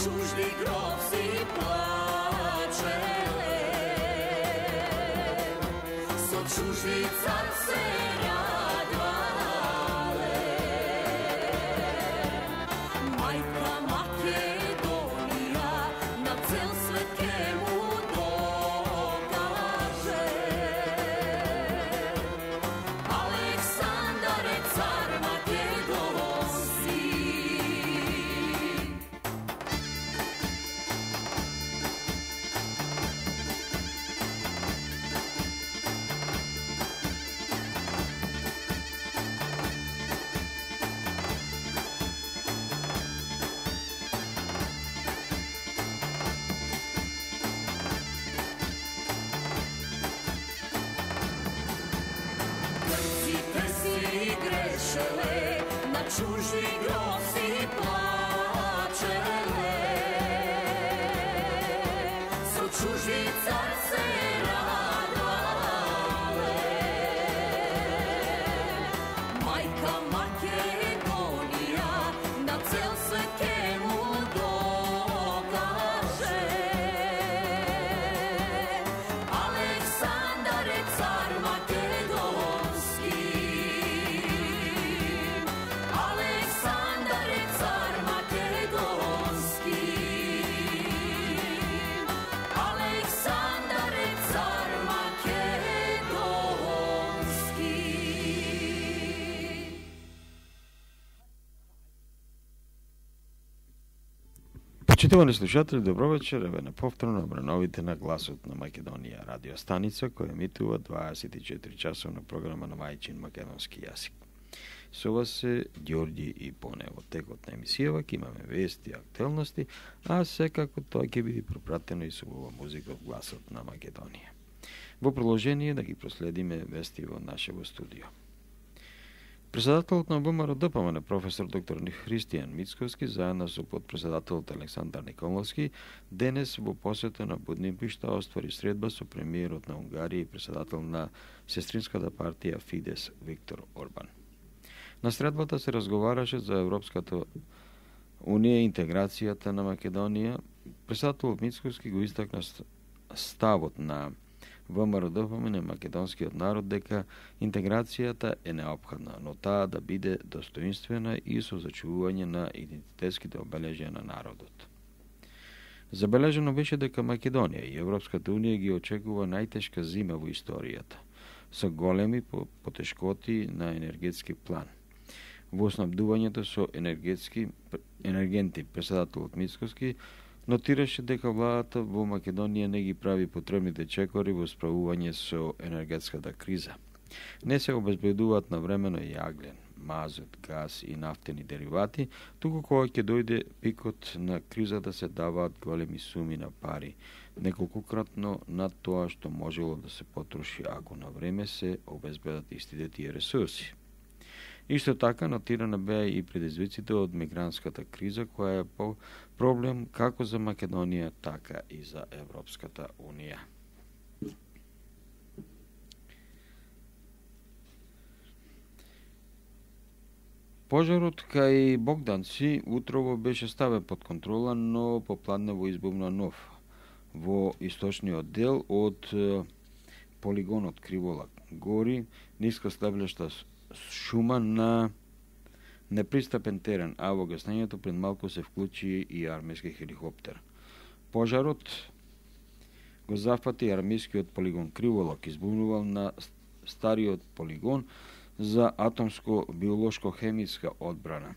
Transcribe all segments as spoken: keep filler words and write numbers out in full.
чужди гроб си плачеле, со чужди цар се радвале. Мајка Македонија на цел свет ке му докаже, Александар е цар македонски. Грците си грешеле, на чужди гроб си плачеле, со чужди цар се радвале. Мајка Македонија на цел свет ке му докаже, Александар е цар македонски. Александар е цар македонски. Александар е цар македонски. Почитувани слушатели, добро вечер. Еве на повторно обрановите на Гласот на Македонија радио станица која емитува дваесет и четири часовна програма на мајчин македонски јазик. Со вас е Ѓорѓи и Поне. Во текот на емисијава ќе имаме вести и актуелности, а секако тоа ќе биде пропратено и со убава музика од Гласот на Македонија. Во продолжение да ги проследиме вести во нашево студио. Председателот на ВМРО-ДПМН професор доктор Христијан Мицковски заедно со подпредседателот Александар Николовски денес во посета на Будимпешта оствари средба со премиерот на Унгарија и председател на сестринската партија Фидес Виктор Орбан. На средбата се разговараше за Европската Унија и интеграцијата на Македонија. Председателот Мицковски го истакна ставот на ВМРО-ДПМН македонскиот народ дека интеграцијата е неопходна, но таа да биде достоинствена и со зачувување на идентитетските обележја на народот. Забележано беше дека Македонија и Европската Унија ги очекува најтешка зима во историјата, со големи потешкоти на енергетски план. Во снабдувањето со енергетски енергенти председателот Мицковски нотираше дека владата во Македонија не ги прави потребните чекори во справување со енергетската криза. Не се обезбедуваат навремено јаглен, мазут, газ и нафтени деривати, туку кога ќе дојде пикот на кризата се даваат големи суми на пари, неколкократно над тоа што можело да се потроши ако на време се обезбедат истите тие ресурси. Исто така нотирана беа и предизвиците од мигрантската криза, која е по проблем како за Македонија, така и за Европската Унија. Пожарот кај Богданци утрово беше ставен под контрола, но попладнево избумна нов во источниот дел од полигонот Кривола гори ниска слеблешта шума на непристапен терен, а во гаснењето пред малку се вклучи и армиски хеликоптер. Пожарот го зафати армискиот полигон Криволак, избунувал на стариот полигон за атомско-биолошко-хемиска одбрана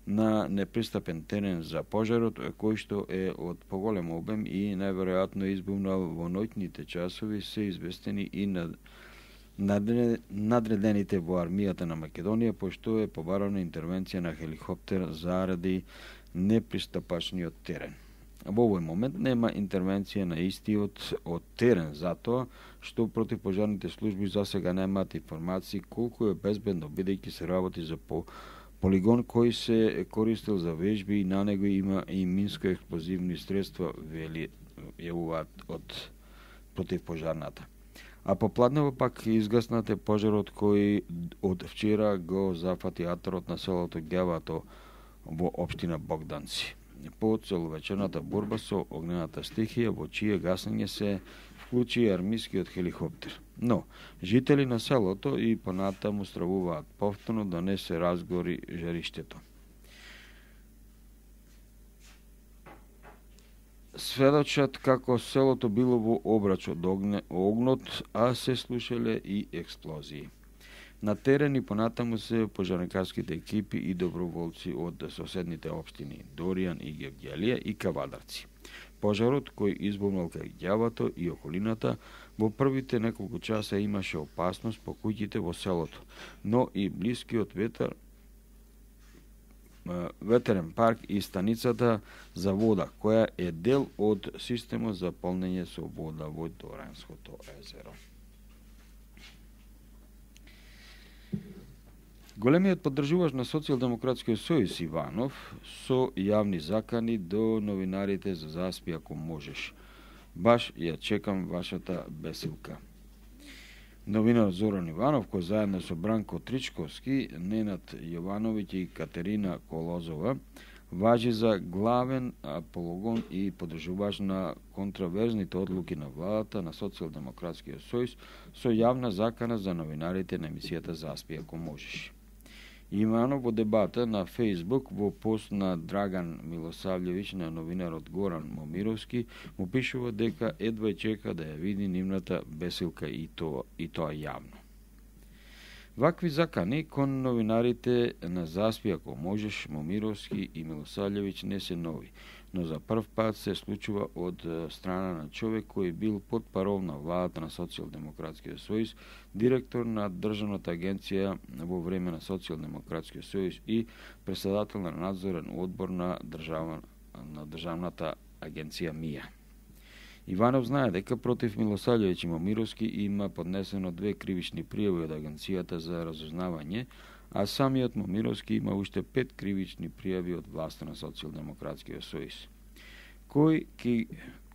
на непристапен терен за пожарот, кој што е од поголем обем и најверојатно избумнал во ноќните часови, се известени и на надредените во армијата на Македонија, пошто е побарана интервенција на хеликоптер заради непристапачниот терен. Во овој момент нема интервенција на истиот од терен, затоа што противпожарните служби засега немаат информации колку е безбедно, бидејќи се работи за по полигон кој се користел за вежби и на него има и минско-експлозивни средства, вели јавуваат од противпожарната. А попладнево пак изгаснате пожарот кој од вчера го зафати атарот на селото Ѓавато во општина Богданци. по целовечерната борба со огнената стихија, во чие гасење се вклучи армискиот хеликоптер. Но, жители на селото и понатаму стравуваат повторно да не се разгори жариштето. Сведочат како селото било во обрач од огнот, а се слушале и експлозии. На терен и понатаму се пожарникарските екипи и доброволци од соседните општини Доријан и Гевгелија и Кавадарци. Пожарот кој избумнал кај ѓавато и околината, во првите неколку часа имаше опасност по куќите во селото, но и блискиот ветер ветерен парк и станицата за вода, која е дел од системот за полнење со вода во Доранското езеро. Големиот поддржуваш на Социјалдемократскиот сојуз Иванов со јавни закани до новинарите за заспи ако можеш. Баш ја чекам вашата бесилка. Новинар Зоран Иванов, кој заедно со Бранко Тричковски, Ненад Јовановиќ и Катерина Колозова, важи за главен апологон и поддржуваш на контраверзните одлуки на владата на Социјалдемократскиот сојуз со јавна закана за новинарите на емисијата Заспи ако можеш. Иванов во дебата на Фејсбук во пост на Драган Милосављевиќ на новинарот Горан Момировски му пишува дека едва чека да ја види нивната бесилка и тоа, и тоа јавно. Вакви закани кон новинарите на Заспи ако можеш Момировски и Милосављевиќ не се нови, но за прв пат се случува од страна на човек кој бил под парол на владата на Социјалдемократскиот сојуз, директор на Државната агенција во време на Социјалдемократскиот сојуз и председател на надзорен одбор на, држава, на Државната агенција МИА. Иванов знае дека против Милосављевиќ и Момировски има поднесено две кривични пријави од Агенцијата за разузнавање, а самиот Момировски има уште пет кривични пријави од власта на Социјалдемократскиот сојуз. Кој ќе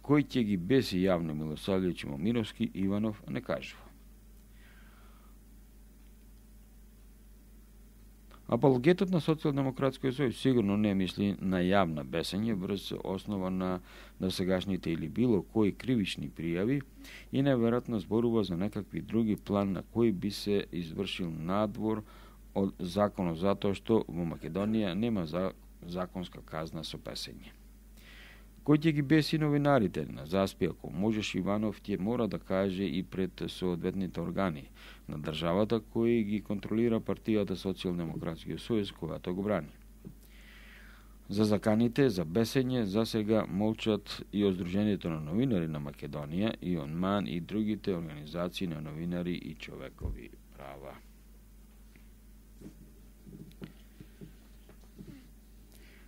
кој ќе ги беси јавно Милосављевиќ и Момировски, Иванов не кажува. Апологетот на Социјалдемократскиот сојуз сигурно не мисли на јавна бесење врз основа на досегашните или било кои кривични пријави и неверојатно зборува за некакви други план на кој би се извршил надвор од законот затоа што во Македонија нема за, законска казна со песење. Кој ќе ги беси новинарите на Заспи ако можеш, Иванов ќе мора да каже и пред соодветните органи на државата кои ги контролира партијата Социјалдемократскиот сојуз којато го брани. За заканите за бесење за сега молчат и од Сдруженијето на новинари на Македонија, и ОНМАН и другите организации на новинари и човекови права.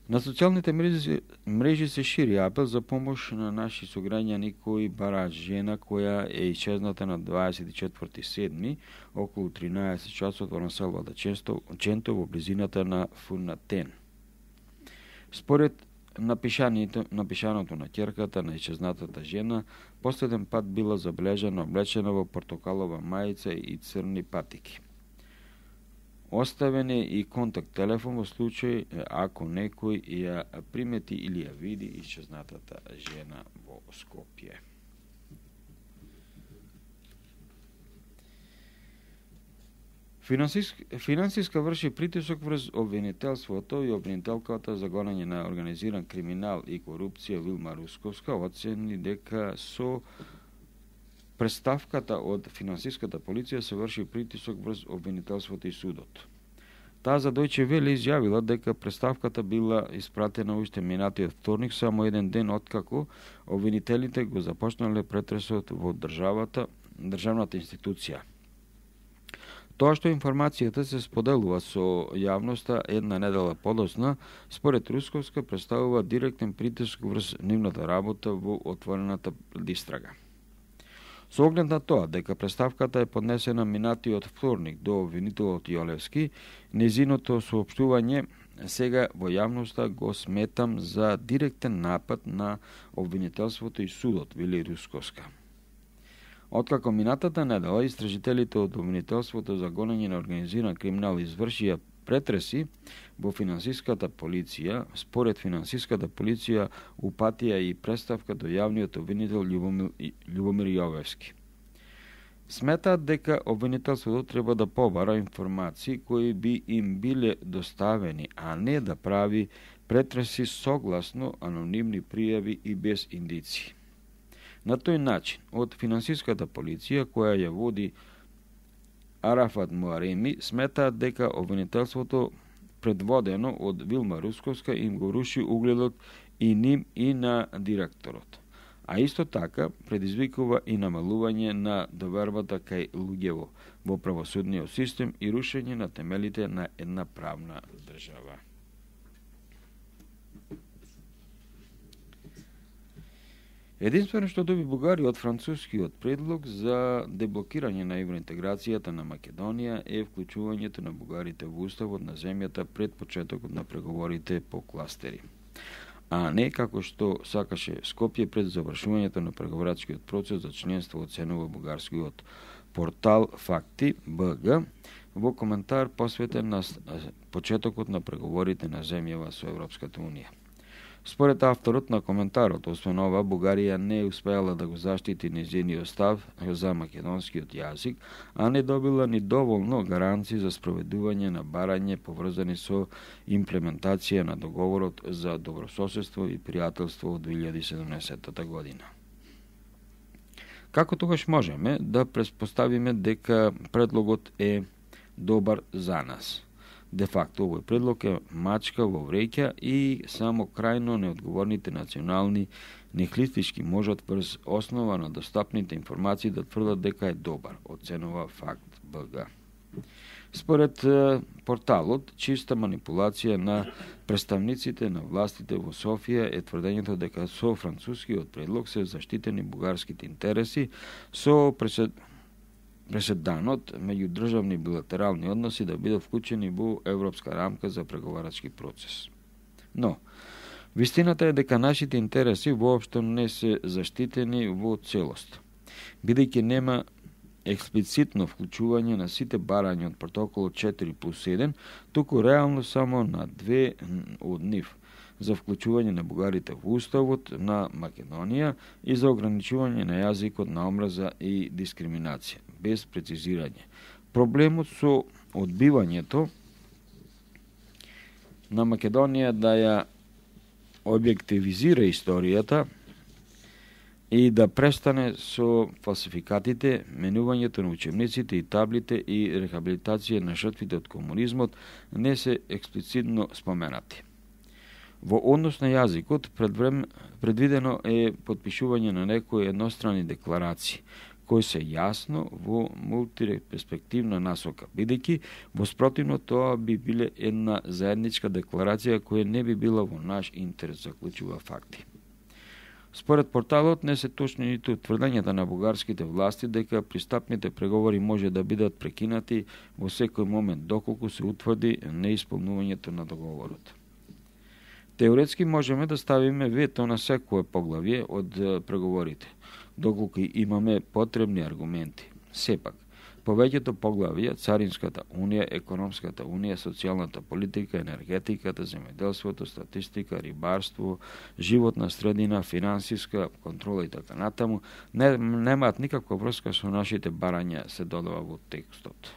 На социјалните мрежи, мрежи се шири апел за помош на наши сограѓани кои бараат жена која е исчезната на дваесет и четврти седми околу тринаесет часот во населбата Ченто во близината на Фунатен. Според напишаното, напишаното на ќерката на исчезнатата жена, последен пат била забележана облечена во портокалова мајица и црни патики. Оставен е и контакт телефон во случај ако некој ја примети или ја види исчезнатата жена во Скопје. Финансиска, финансиска врши притисок врз обвинителството и обвинителката за гонење на организиран криминал и корупција Вилма Русковска оцени дека со представката од финансиската полиција се врши притисок врз обвинителството и судот. Таа за Дојче Веле изјавила дека представката била испратена уште минатиот вторник, само еден ден откако обвинителите го започнале претресот во државата, државната институција. Тоа што информацијата се споделува со јавноста една недела подоцна, според Русковска представува директен притиск врз нивната работа во отворената истрага. Со оглед на тоа дека представката е поднесена минатиот вторник до обвинителот Јолевски, незиното соопштување сега во јавноста го сметам за директен напад на обвинителството и судот, вели Русковска. Откако минатата недела истражителите од обвинителството за гонење на организиран криминал извршија претреси во финансиската полиција, според финансиската полиција упатија и представка до јавниот обвинител Љубомир, Љубомир Јовевски. Сметаат дека обвинителството треба да побара информации кои би им биле доставени, а не да прави претреси согласно анонимни пријави и без индици. На тој начин, од финансиската полиција, која ја води Арафат Муареми, сметаат дека обвинителството предводено од Вилма Русковска им го руши угледот и ним и на директорот. А исто така предизвикува и намалување на довербата кај луѓево во правосудниот систем и рушење на темелите на една правна држава. Единствено што доби Бугарија од францускиот предлог за деблокирање на евроинтеграцијата на Македонија е вклучувањето на бугарите во уставот на земјата пред почетокот на преговорите по кластери, а не како што сакаше Скопје пред завршувањето на преговорачкиот процес за членство, оценува бугарскиот портал Факти Б Г во коментар посветен на почетокот на преговорите на земјава со Европската унија. Според авторот на коментарот, освен ова, Бугарија не успеала да го заштити нејзиниот став за македонскиот јазик, а не добила ни доволно гаранции за спроведување на барање поврзани со имплементација на договорот за добрососедство и пријателство од две илјади и седумнаесетта година. Како тогаш можеме да претпоставиме дека предлогот е добар за нас? Де факто, овој предлог е мачка во вреќа и само крајно неодговорните национални нехлистички можат врз основа на достапните информации да тврдат дека е добар, оценува Факт Б Г. Според порталот, чиста манипулација на представниците на властите во Софија е тврдењето дека со францускиот предлог се заштитени бугарските интереси со пресед преседанот меѓудржавни билатерални односи да бидат вклучени во европска рамка за преговарачки процес. Но, вистината е дека нашите интереси воопшто не се заштитени во целост, бидејќи нема експлицитно вклучување на сите барања од протоколот четири плюс еден, туку реално само на две од нив, за вклучување на бугарите во уставот на Македонија и за ограничување на јазикот на омраза и дискриминација, без прецизирање. Проблемот со одбивањето на Македонија да ја објективизира историјата и да престане со фалсификатите, менувањето на учебниците и таблите и рехабилитација на жртвите од комунизмот не се експлицитно споменати. Во однос на јазикот, предвидено е подпишување на некои еднострани декларации, кои се јасно во мултиперспективна насока, бидејќи во спротивно тоа би биле една заедничка декларација која не би била во наш интерес, заклучува Факти. Според порталот не се точни ниту тврдењата на бугарските власти дека пристапните преговори може да бидат прекинати во секој момент доколку се утврди неисполнувањето на договорот. Теоретски можеме да ставиме вето на секое поглавје од преговорите, доколку имаме потребни аргументи. Сепак, повеќето поглавја, Царинската унија, Економската унија, социјалната политика, енергетиката, земјоделството, статистика, рибарство, животна средина, финансиска контрола и така натаму, не, немаат никаква врска со нашите барања, се додава во текстот.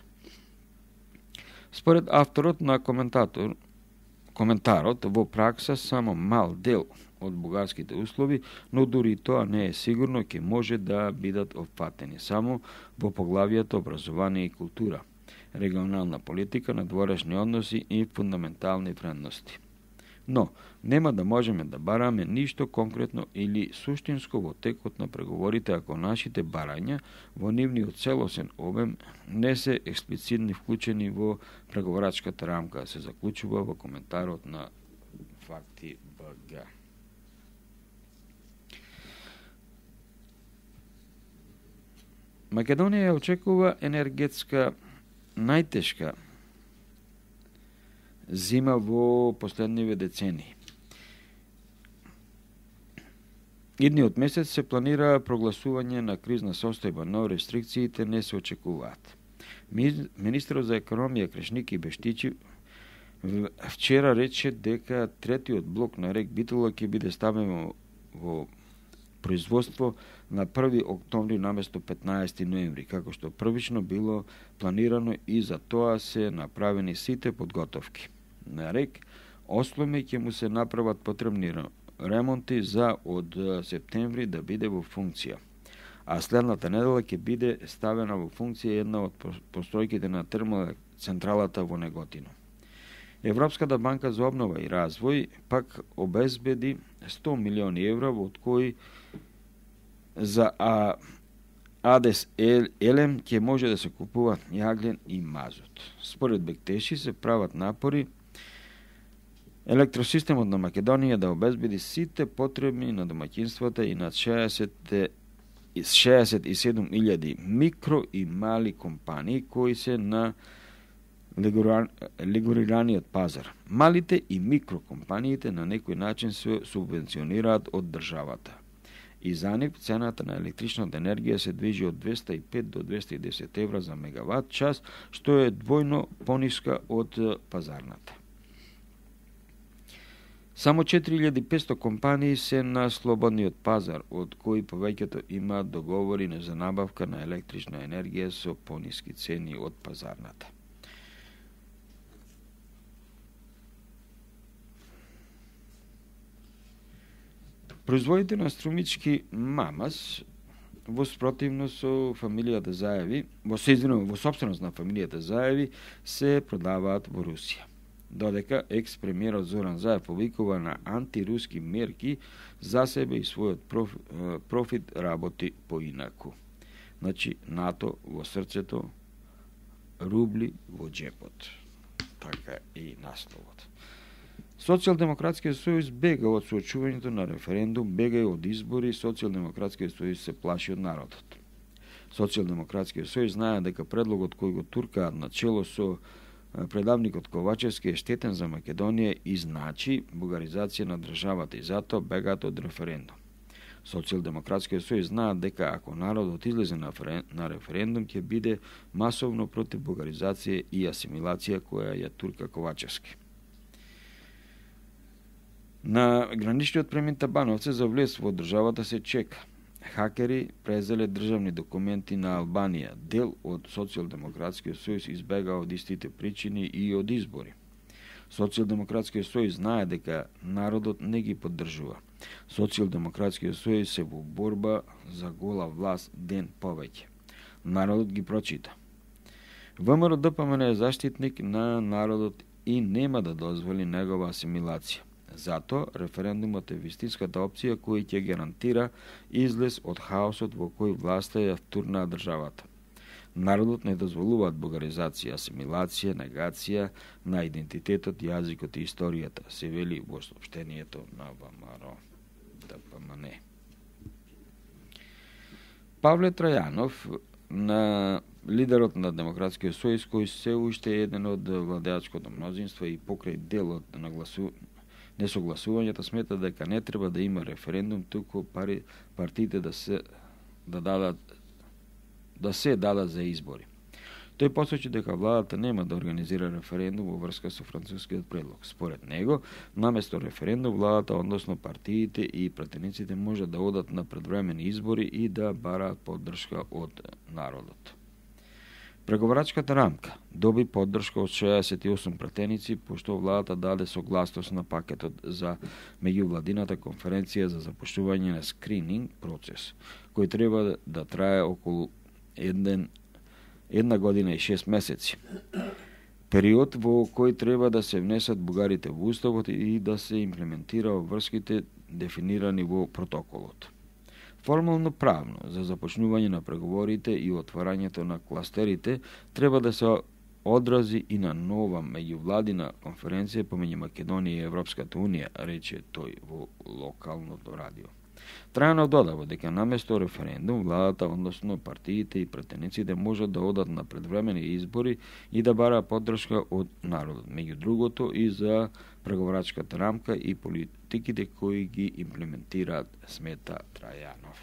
Според авторот на коментатор, коментарот, во пракса само мал дел од бугарските услови, но дури тоа не е сигурно ќе може да бидат опфатени само во поглавијата образование и култура, регионална политика, надворешни односи и фундаментални вредности. Но, нема да можеме да бараме ништо конкретно или суштинско во текот на преговорите ако нашите барања во нивниот целосен обем не се експлицитни вклучени во преговорачката рамка, се заклучува во коментарот на Факти Б Г. Македонија ја очекува енергетска најтешка зима во последниве децении. Идниот месец се планира прогласување на кризна состојба, но рестрикциите не се очекуваат. Министерот за економија Крешники Бештичи вчера рече дека третиот блок на РЕК Битола ќе биде ставен во производство на први октомври наместо петнаесети ноември, како што првично било планирано и за тоа се направени сите подготовки. На РЕК Осломе ќе му се направат потребни ремонти за од септември да биде во функција. А следната недела ќе биде ставена во функција една од постојките на термоцентралата во Неготино. Европската банка за обнова и развој пак обезбеди сто милиони евра, од кои за а, Адес Елем ќе може да се купуваат јаглен и мазут. Според Бектеши се прават напори електросистемот на Македонија да обезбеди сите потребни на домаќинствата и над шеесет и седум илјади микро и мали компании кои се на регулираниот пазар. Малите и микрокомпаниите на некој начин се субвенционираат од државата. И за нив цената на електричната енергија се движи од двеста и пет до двеста и десет евра за мегават час, што е двојно пониска од пазарната. Само четири илјади и петстотини компании се на слободниот пазар, од кои повеќето имаат договори за набавка на електрична енергија со пониски цени од пазарната. Производите на струмички мамас во спротивно со фамилијата Заеви, во соизвинувам, во собственост на фамилијата Заеви, се продаваат во Русија. Додека екс-премиерот Зоран Заев повикува на антируски мерки, за себе и својот проф, профит работи поинаку. Значи, НАТО во срцето, рубли во джепот. Така и насловот. Социјалдемократскиот сојуз бега од соочувањето на референдум, бега и од избори, Социјалдемократскиот сојуз се плаши од народот. Социјалдемократскиот сојуз знае дека предлогот кој го туркаат на чело со предавникот Ковачевски е штетен за Македонија и значи бугаризација на државата и затоа бегаат од референдум. Социјалдемократскиот сојуз знаат дека ако народот излезе на референдум ќе биде масовно против бугаризација и асимилација која ја турка Ковачевски. На граничниот премин Табановце за влез во државата се чека. Хакери презеле државни документи на Албанија. Дел од Социјалдемократскиот сојуз избега од истите причини и од избори. Социјалдемократскиот сојуз знае дека народот не ги поддржува. Социјалдемократскиот сојуз се во борба за гола власт ден повеќе. Народот ги прочита. ВМРО Д П М Н е заштитник на народот и нема да дозволи негова асимилација. Зато референдумот е вистинската опција кој ќе гарантира излез од хаосот во кој власта ја втурнаа државата. Народот не дозволуваат бугаризација, асимилација, негација на идентитетот, јазикот и историјата, се вели во соопштението на ВМРО Д П М Н. Павле Трајанов, на лидерот на Демократскиот сојуз, кој се уште е еден од владеачкото мнозинство и покрај делот на гласу несогласувањето, смета дека не треба да има референдум, туку пари партиите да се да дадат да се дадат за избори. Тој посочи дека владата нема да организира референдум во врска со францускиот предлог. Според него, наместо референдум, владата, односно партиите и пратениците може да одат на предвремени избори и да бараат поддршка од народот. Преговарачката рамка доби поддршка од шеесет и осум пратеници, пошто владата даде согласност на пакетот за меѓувладината конференција за започнување на скрининг процес, кој треба да трае околу еден, една година и шест месеци. Период во кој треба да се внесат бугарите во уставот и да се имплементира врските дефинирани во протоколот. Формално правно за започнување на преговорите и отварањето на кластерите треба да се одрази и на нова меѓувладина конференција помеѓу Македонија и Европската унија, рече тој во локалното радио. Трајанов додава дека наместо референдум, владата, односно партиите и претениците можат да одат на предвремени избори и да бара поддршка од народот, меѓу другото и за преговарачката рамка и политиките кои ги имплементираат, смета Трајанов.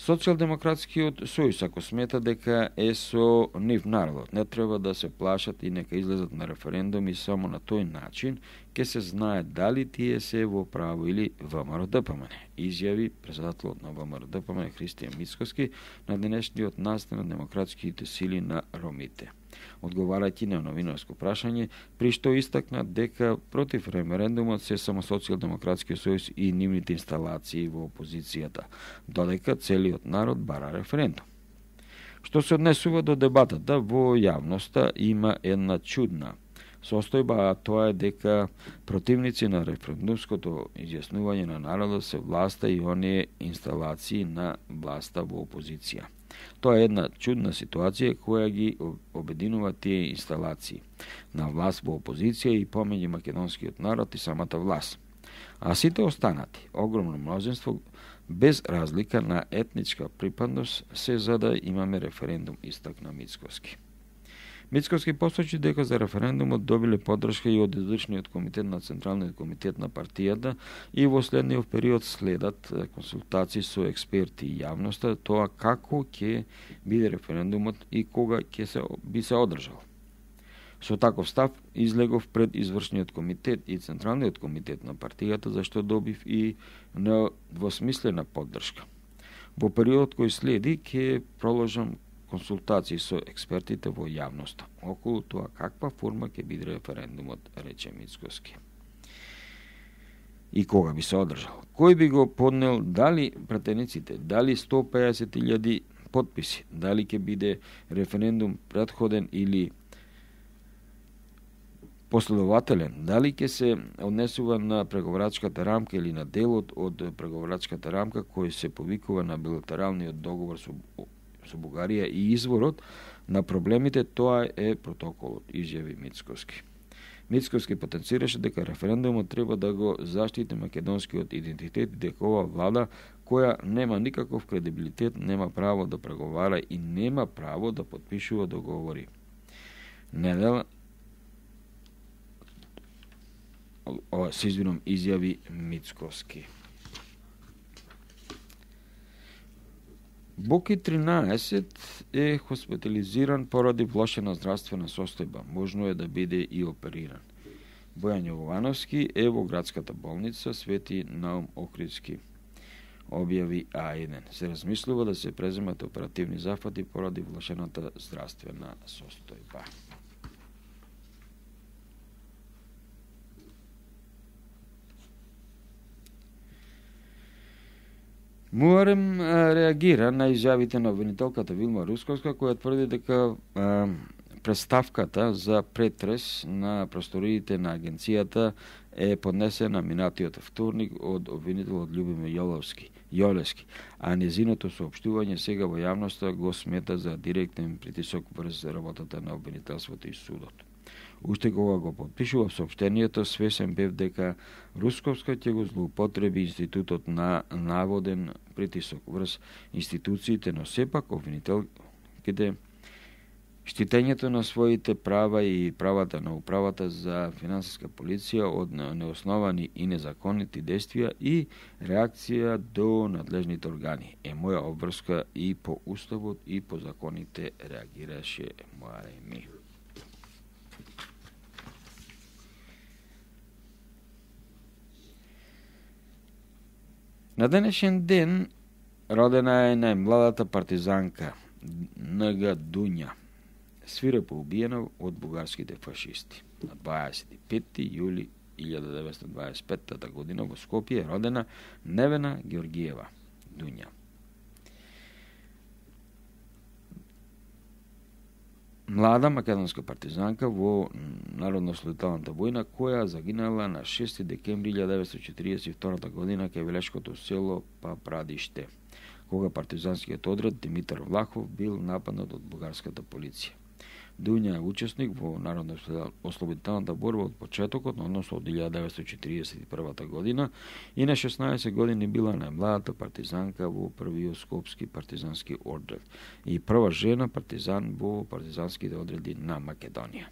Социјалдемократскиот сојуз, ако смета дека е со нив народот, не треба да се плашат и нека излезат на референдум и само на тој начин ќе се знае дали тие се во право или ВМРО-ДПМН, изјави председателот на ВМРО-ДПМН Христијан Мицкоски на денешниот настан на демократските сили на ромите. Одговарајќи на новинарско прашање, при што истакна дека против референдумот се само Социјалдемократскиот сојуз и нивните инсталации во опозицијата, додека целиот народ бара референдум. Што се однесува до дебатата во јавноста, има една чудна состојба, а тоа е дека противници на референдумското изјаснување на народот се власта и оние инсталации на власта во опозиција. Тоа е една чудна ситуација која ги обединува тие инсталации на власт во опозиција и помеѓу македонскиот народ и самата власт. А сите останати, огромно мнозинство, без разлика на етничка припадност, се за да имаме референдум, истакна Мицкоски. Мицкоски посочи дека за референдумот добиле поддршка и од извршниот комитет на Централниот комитет на партијата и во следниот период следат консултации со експерти и јавноста тоа како ќе биде референдумот и кога ќе се би се одржал. Со таков став излегов пред извршниот комитет и Централниот комитет на партијата, зашто добив и недвосмислена поддршка. Во периодот кој следи ќе проложам консултации со експертите во јавноста околу тоа каква форма ќе биде референдумот, рече Мицкоски. И кога би се одржал? Кој би го поднел, дали пратениците, дали сто и песет илјади потписи, дали ќе биде референдум претходен или последователен, дали ќе се однесува на преговарачката рамка или на делот од преговарачката рамка кој се повикува на билатералниот договор со со Бугарија и изворот на проблемите, тоа е протоколот, изјави Мицкоски. Мицкоски потенцираше дека референдумот треба да го заштити македонскиот идентитет и дека ова влада, која нема никаков кредибилитет, нема право да преговара и нема право да потпишува договори. Недела ова се извинам, изјави Мицкоски. Боки тринаесет е хоспитализиран поради влошена здравствена состојба. Можно е да биде и опериран. Бојан Јовановски е во градската болница Свети Наум Охридски, објави А еден. Се размислува да се преземат оперативни зафати поради влошената здравствена состојба. Муарем реагира на изјавите на обвинителката Вилма Русковска, која тврди дека а, представката за претрес на просториите на агенцијата е поднесена минатиот вторник од обвинителот Љубомир Јолевски, Јолевски, а незиното соопштување сега во јавноста го смета за директен притисок врз работата на обвинителството и судот. Уште кога го подпишува соопштението, свесен бев дека Русковска ќе го злоупотреби институтот на наводен притисок врз институциите, но сепак обвинителките штитењето на своите права и правата на управата за финансиска полиција од неосновани и незаконити действија и реакција до надлежните органи е моја обврска и по уставот и по законите, реагираше Муареми. На денешен ден родена е најмладата партизанка Н.Г. Дуња, свирепо убиена од бугарските фашисти. На дваесет и пети јули илјада деветстотини дваесет и пета година во Скопје е родена Невена Георгиева Дуња. Млада македонска партизанка во Народно-ослободителната војна, која загинала на шести декември илјада деветстотини четиридесет и втора година кај Велешкото село Папрадиште, кога партизанскиот одред Димитар Влахов бил нападнат од бугарската полиција. Дуња е учесник во Народно-ослободителната борба од почетокот, односно од илјада деветстотини четиридесет и прва година, и на шеснаесет години била најмладата партизанка во првиот скопски партизански одред и прва жена партизан во партизанските одреди на Македонија.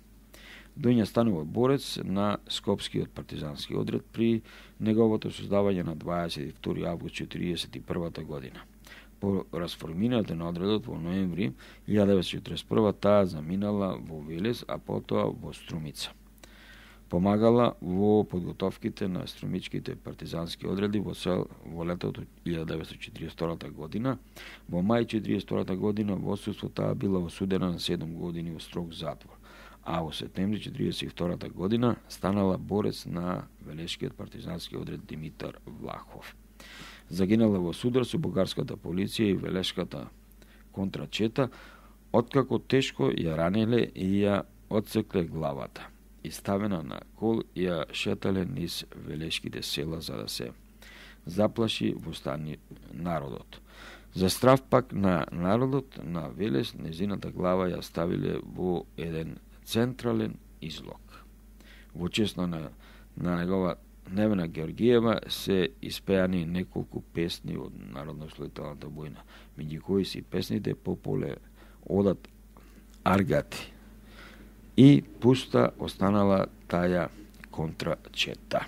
Дуња станува борец на скопскиот партизански одред при неговото создавање на дваесет и втори август четиридесет и прва година. По расформирање на одредот во ноември илјада деветстотини и траесет и прва таа заминала во Велес, а потоа во Струмица. Помагала во подготовките на струмичките партизански одреди во сел во летото илјада деветстотини и четиридесет и втора година. Во мај четиридесет и втора година во отсуство таа била осудена на седум години во строг затвор, а во септември четиридесет и втора година станала борец на велешкиот партизански одред Димитар Влахов. Загинала во судар со бугарската полиција и велешката контрачета, откако тешко ја ранеле и ја отсекле главата. И ставена на кол и ја шетале низ велешките села за да се заплаши востани народот. За страв пак на народот на Велес, незината глава ја ставиле во еден централен излог. Во чест на, на негова Невена Георгиева се испеани неколку песни од Народно-ослободителната војна, меѓу кои си песните Пополе одат Аргати и пуста останала таја контрачета.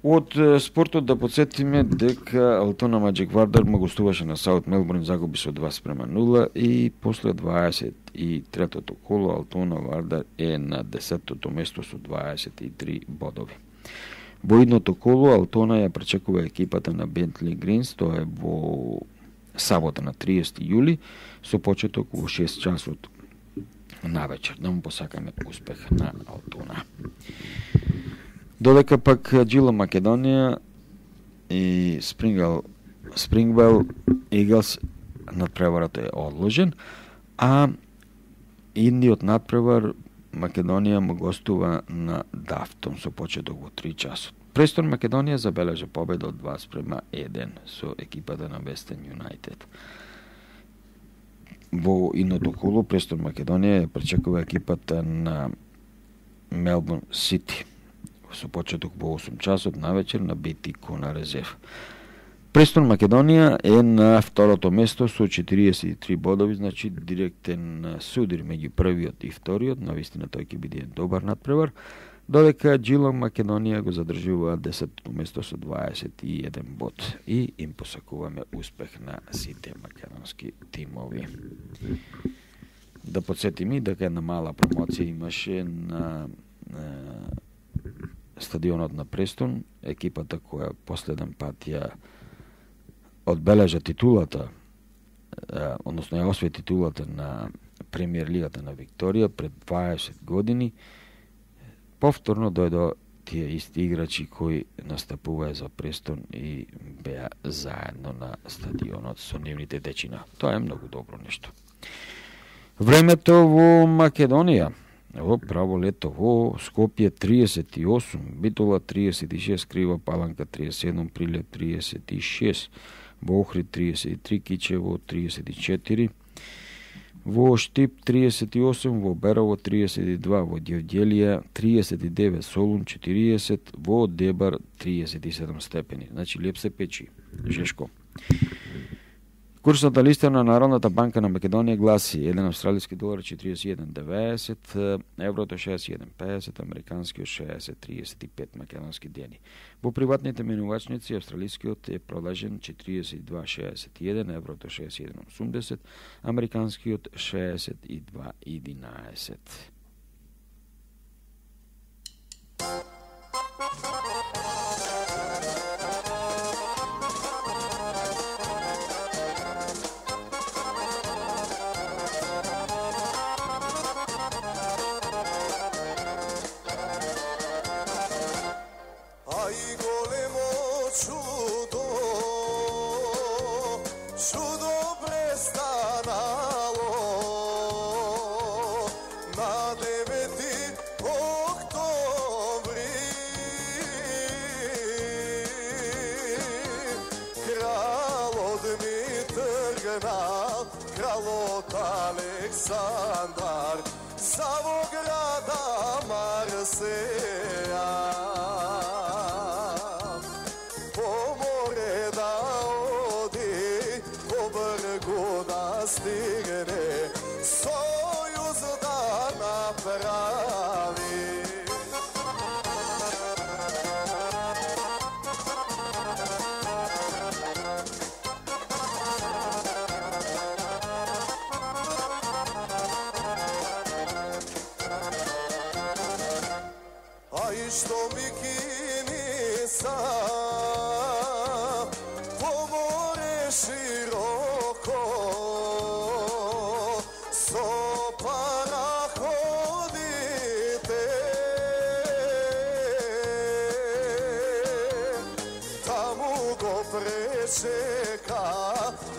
Од спортот да подсетиме дека Алтона Маџик Вардар му гостуваше на Саут Мелбурн, загуби со два спрема нула и после дваесет и третото коло Алтона Вардар е на десеттото место со дваесет и три бодови. Во идното коло Алтона ја пречекува екипата на Бентли Гринс, тоа е во сабота на триесети јули, со почеток во шест часот навечер. Да му посакаме успех на Алтона. Додека пак Џила Македонија и Спрингвел, Спрингвел Иглс надпреварот е одложен, а идниот надпревар Македонија му гостува на Дафтон со почеток во три часот. Престон Македонија забележа победа од два спрема еден со екипата на Вестен Юнајтед. Во идното коло Престон Македонија ја пречекува екипата на Мелбурн Сити со почеток во осум часот навечер на Битико на резерв. Престон Македонија е на второто место со четириесет и три бодови, значи директен судир меѓу првиот и вториот, навистина тој ќе биде добар надпревар, додека Џила Македонија го задржува десеттото место со дваесет и еден бод и им посакуваме успех на сите македонски тимови. Да подсетиме дека една мала промоција имаше на, на стадионот на Престон, екипата која последен пат ја одбележа титулата, односно ја освои титулата на Премиер лигата на Викторија пред дваесет години, повторно дојдо тие исти играчи кои настапуваа за Престон и беа заедно на стадионот со нивните дечина. Тоа е многу добро нешто. Времето во Македонија. Во право лето во Скопје триесет и осум, Битола триесет и шест, Крива Паланка триесет и седум, Прилеп триесет и шест, во Охрид триесет и три, Кичево триесет и четири, во Штип триесет и осум, во Берово триесет и два, во Ѓевѓелија триесет и девет, Солун четириесет, во Дебар триесет и седум степени. Значи леп се печи, жешко. Курсната листа на Народната банка на Македонија гласи еден австралиски долар четириесет и еден деветдесет, еврото шеесет и еден педесет, американскиот шеесет триесет и пет македонски дени. Во приватните менувачници австралискиот е продажен четириесет и два шеесет и еден, еврото шеесет и еден осумдесет, американскиот шеесет и два единаесет. Александар, само града Марсеја, по море да оди, по бргу да стигне, сојуз да направи. što mi kini sam po more široko so parahodite tamo go prečeka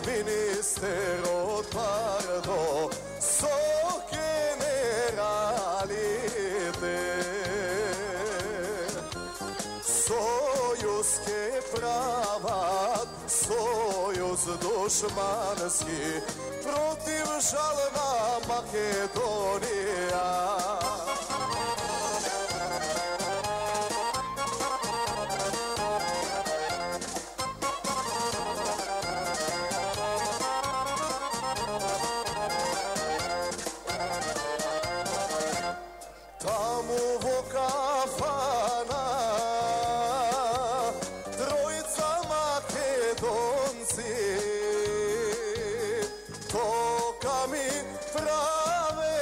minister od Pardo so Sojuzke pravat, sojuz dušmanski, protiv žalna Makedonija. Tamo vo kafana trojica Makedonci toka mi prave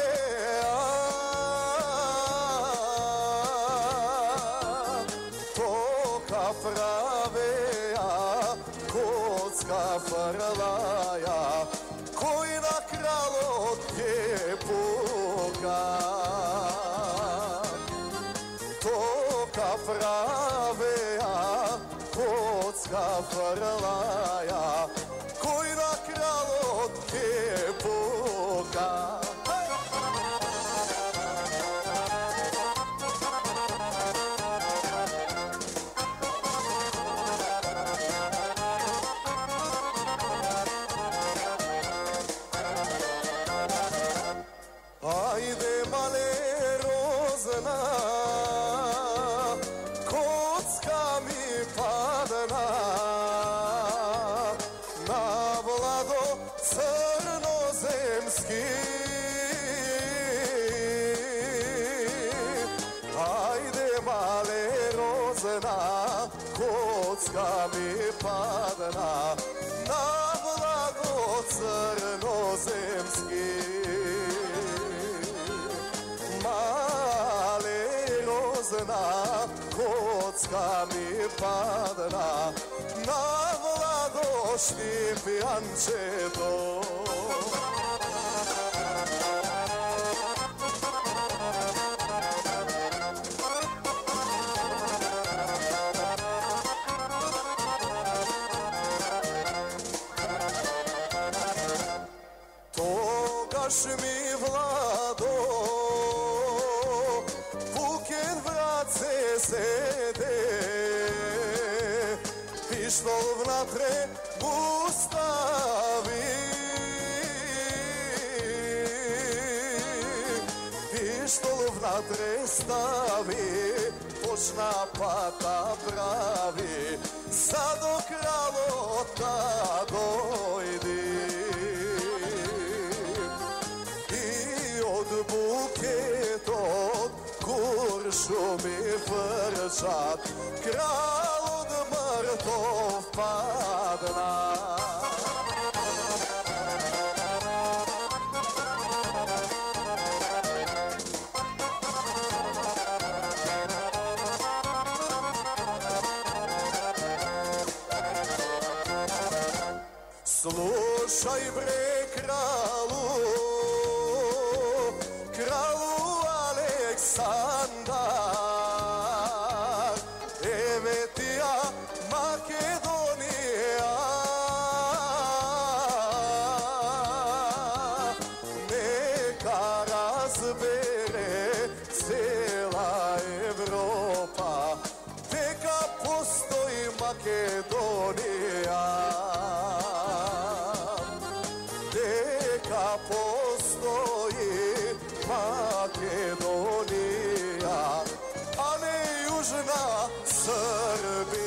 toka prave kocka frlaja koji na kralo tje puka toka prave kocka frlaja koji na kralo tje puka. Ajde male rozna, kocka mi padna na vlado crnozemski. Ajde male rozna, kocka mi padna na vlado crnozemski. Male rozna, kocka mi padna na vlado štipijančeto. Togaš mi vlado buken vrace sede pištol vnatre ustavi pištol vnatre stavi počna pata pravi sad do kralota dojdi od buketot kuršu mi vrčat kralj od mrtov padna. Slušaj bre kralu, kralu Aleksandar, evo ti ja Makedonija, neka razbere cela Evropa, neka postoji Makedonija. Neka postoji Makedonija, a ne južna Srbija.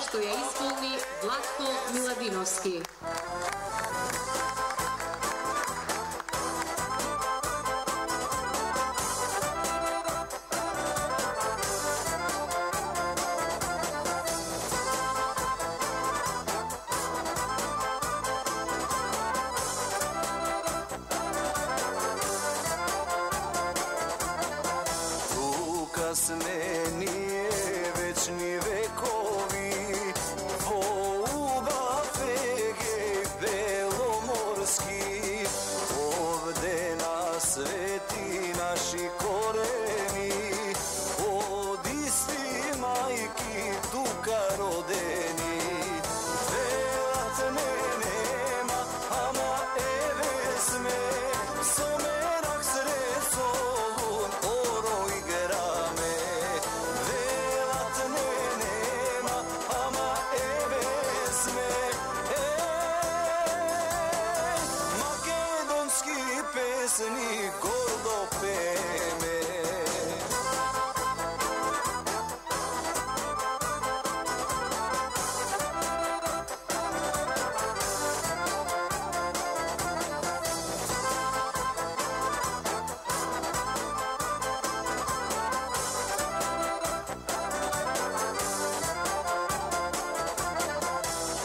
што ја исполни Владко Миладиновски. Kasnenie večni vekovi, Volga, Fegej, Belomorski, ovde na sveti naši koreni, od isti majki tuka rodeni. Velatne nema, ama eve sme, somerak sresolun, oro igra. Pesni gordo peme.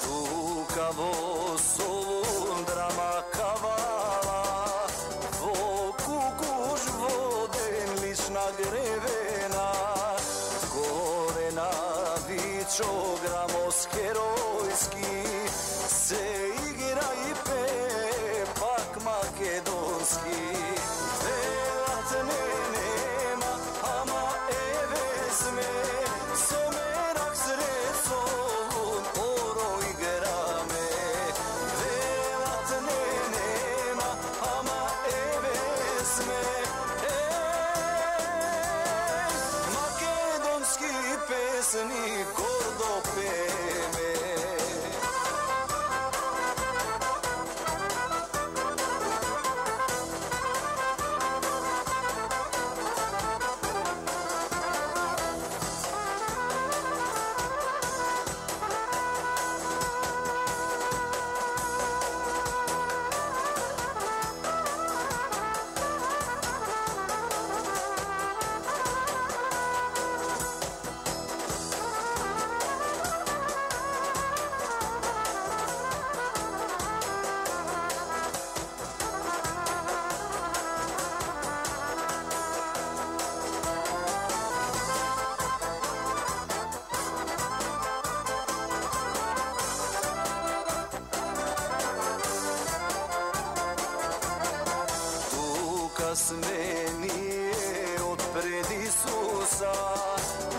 Tuka vo solun drama kavala, grevena, gore na vičogramos herojski, se igra i pepak makedonski. Velatne nema, ama eve sme, somerak sresolun, oro igra me. Velatne nema, ama eve sme, pesni gordo peme. Kasmenije od pred Isusa,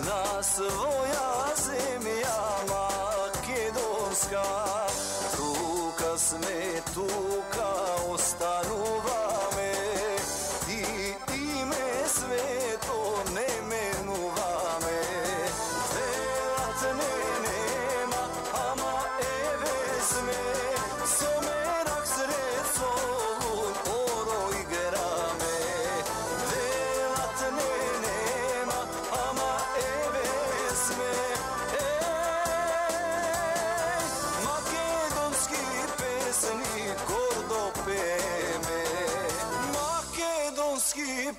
na svoja zemlja makedonska. Tuka sme, tuka ostanuvame, i ime sveto ne menuvame. Velatne nema, ama eve sme, somerak sresolun, oro igra.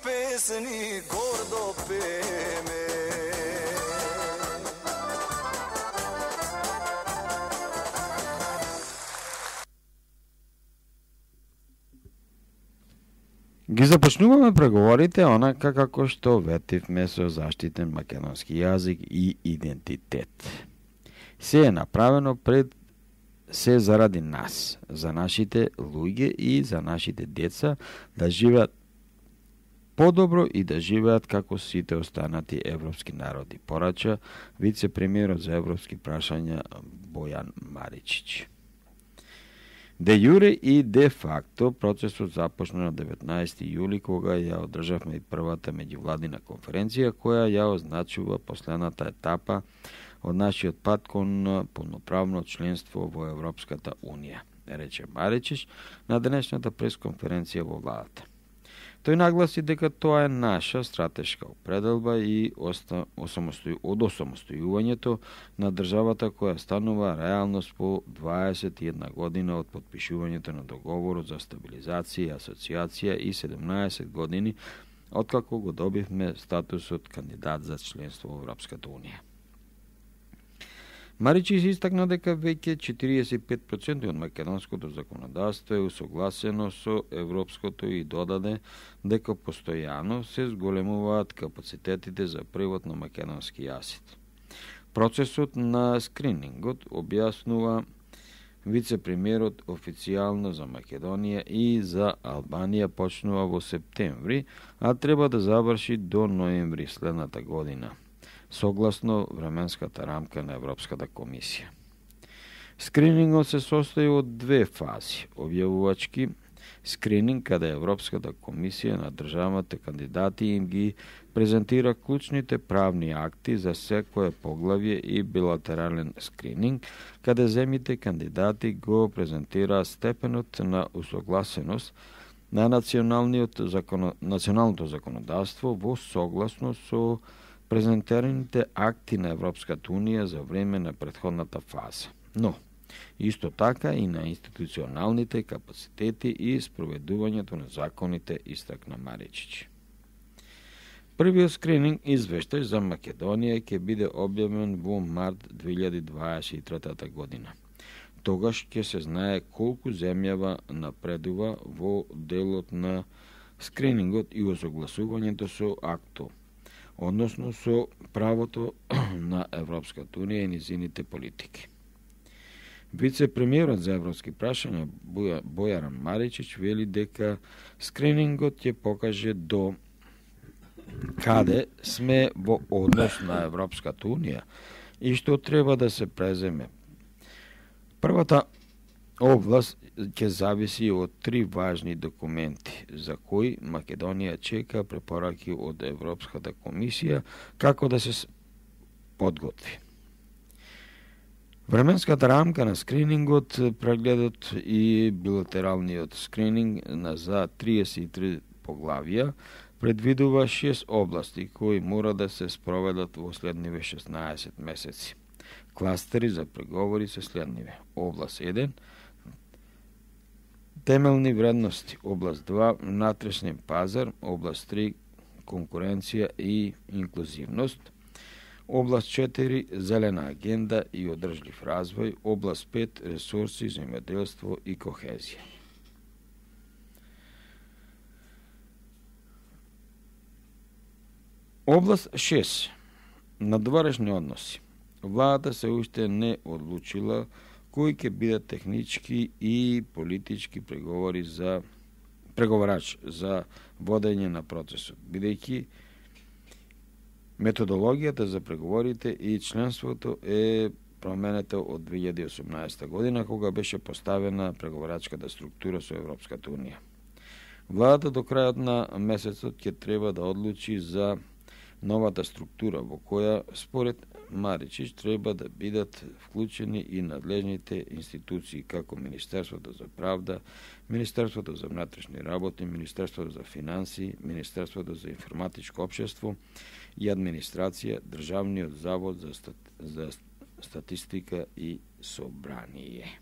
Pesni gordo peme. Ги започнуваме преговорите онака како што ветивме со заштитен македонски јазик и идентитет. Се е направено пред се заради нас, за нашите луѓе и за нашите деца да живеат подобро и да живеат како сите останати европски народи, порача вице-премиерот за европски прашања Бојан Маричич. Де јуре и де факто процесот започна на деветнаесети јули, кога ја одржавме и првата меѓувладина конференција, која ја означува последната етапа од нашиот пат кон полноправно членство во Европската Унија, рече Маричич на денешната пресконференција во владата. Тој нагласи дека тоа е наша стратешка определба и оста, осамостој, од осамостојувањето на државата која станува реалност по дваесет и една година од подпишувањето на договорот за стабилизација и асоциација и седумнаесет години откако го добивме статусот кандидат за членство во Европската унија. Маричи се истакна дека веќе четириесет и пет проценти од македонското законодавство е усогласено со европското и додаде дека постојано се зголемуваат капацитетите за превод на македонски јазик. Процесот на скринингот, објаснува вице-премиерот, официјално за Македонија и за Албанија почнува во септември, а треба да заврши до ноември следната година, согласно временската рамка на Европската комисија. Скринингот се состои од две фази. Објавувачки скрининг, каде Европската комисија на државите кандидати им ги презентира клучните правни акти за секое поглавје, и билатерален скрининг, каде земите кандидати го презентираат степенот на усогласеност на националниот закон... националното законодавство во согласно со презентираните акти на Европската унија за време на претходната фаза. Но, исто така и на институционалните капацитети и спроведувањето на законите, истакна Маричич. Првиот скрининг извештај за Македонија ќе биде објавен во март две илјади дваесет и трета година. Тогаш ќе се знае колку земјава напредува во делот на скринингот и осогласувањето со акто, односно со правото на Европската унија и низините политики. Вице-премиерот за европски прашања Бојаран Маричич вели дека скринингот ќе покаже до каде сме во однос на Европската унија и што треба да се преземе. Првата област ќе зависи од три важни документи за кои Македонија чека препораки од Европската комисија како да се подготви. Временската рамка на скринингот, прегледот и билатералниот скрининг на за триесет и три поглавија предвидува шест области кои мора да се спроведат во следниве шеснаесет месеци. Кластери за преговори се следниве. Област еден темелни вредности, област два внатрешен пазар, област три конкуренција и инклузивност, област четири зелена агенда и одржлив развој, област пет ресурси, земјоделство и кохезија. Област шест надворешни односи. Владата се уште не одлучила кои ќе бидат технички и политички преговори за преговарач за водење на процесот, бидејќи методологијата за преговорите и членството е променета од две илјади и осумнаесета година, кога беше поставена преговарачката структура со Европската унија. Владата до крајот на месецот ќе треба да одлучи за новата структура во која, според Маричич, треба да бидат вклучени и надлежните институции како Министерството за правда, Министерството за внатрешни работи, Министерството за финансии, Министерството за информатичко општество и администрација, Државниот завод за, стат... за статистика и собрание.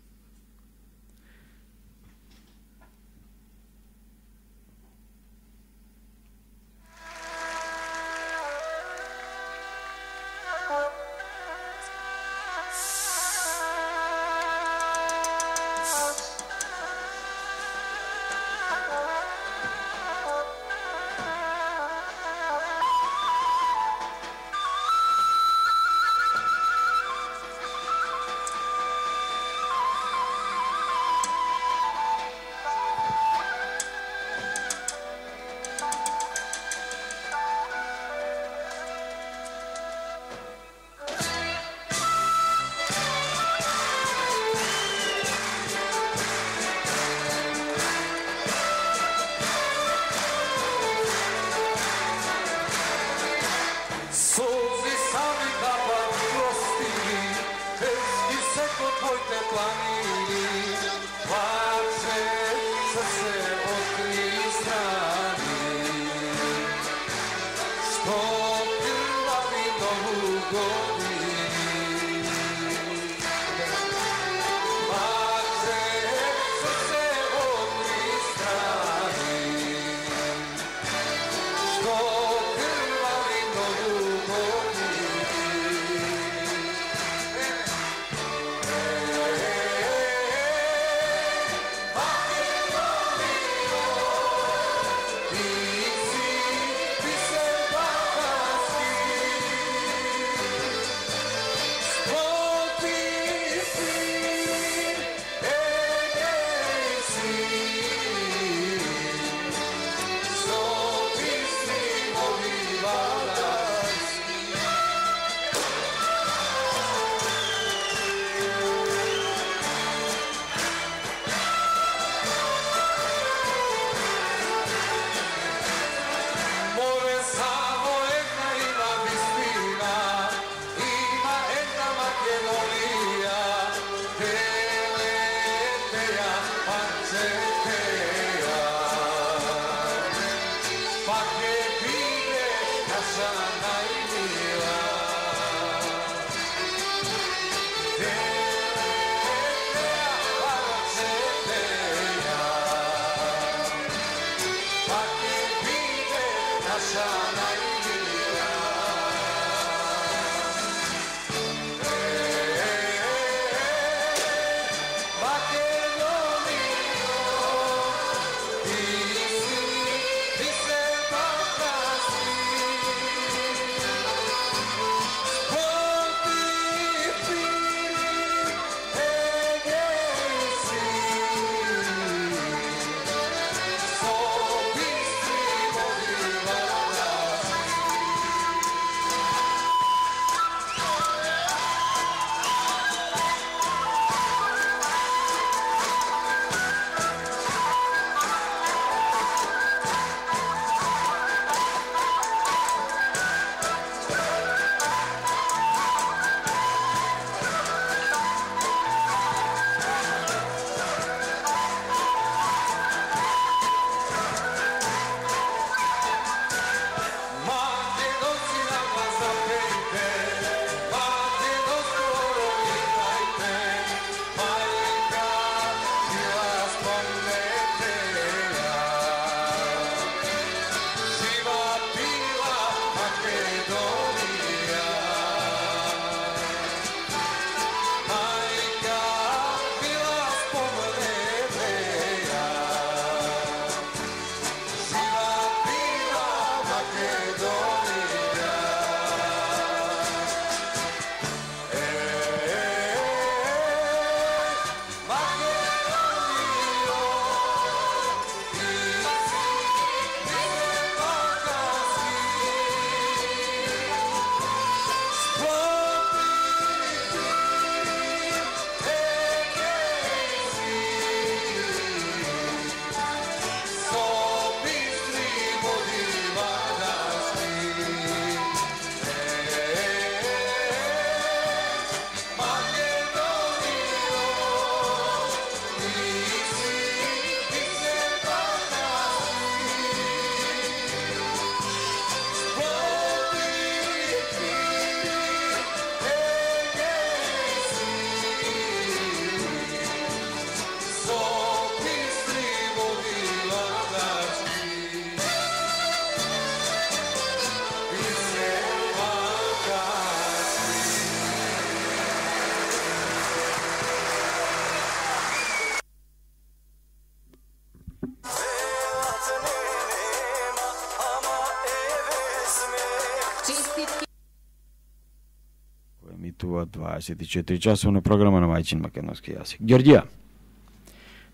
Емитува дваесет и четири часовна програма на мајчин македонски јазик. Ѓорѓија,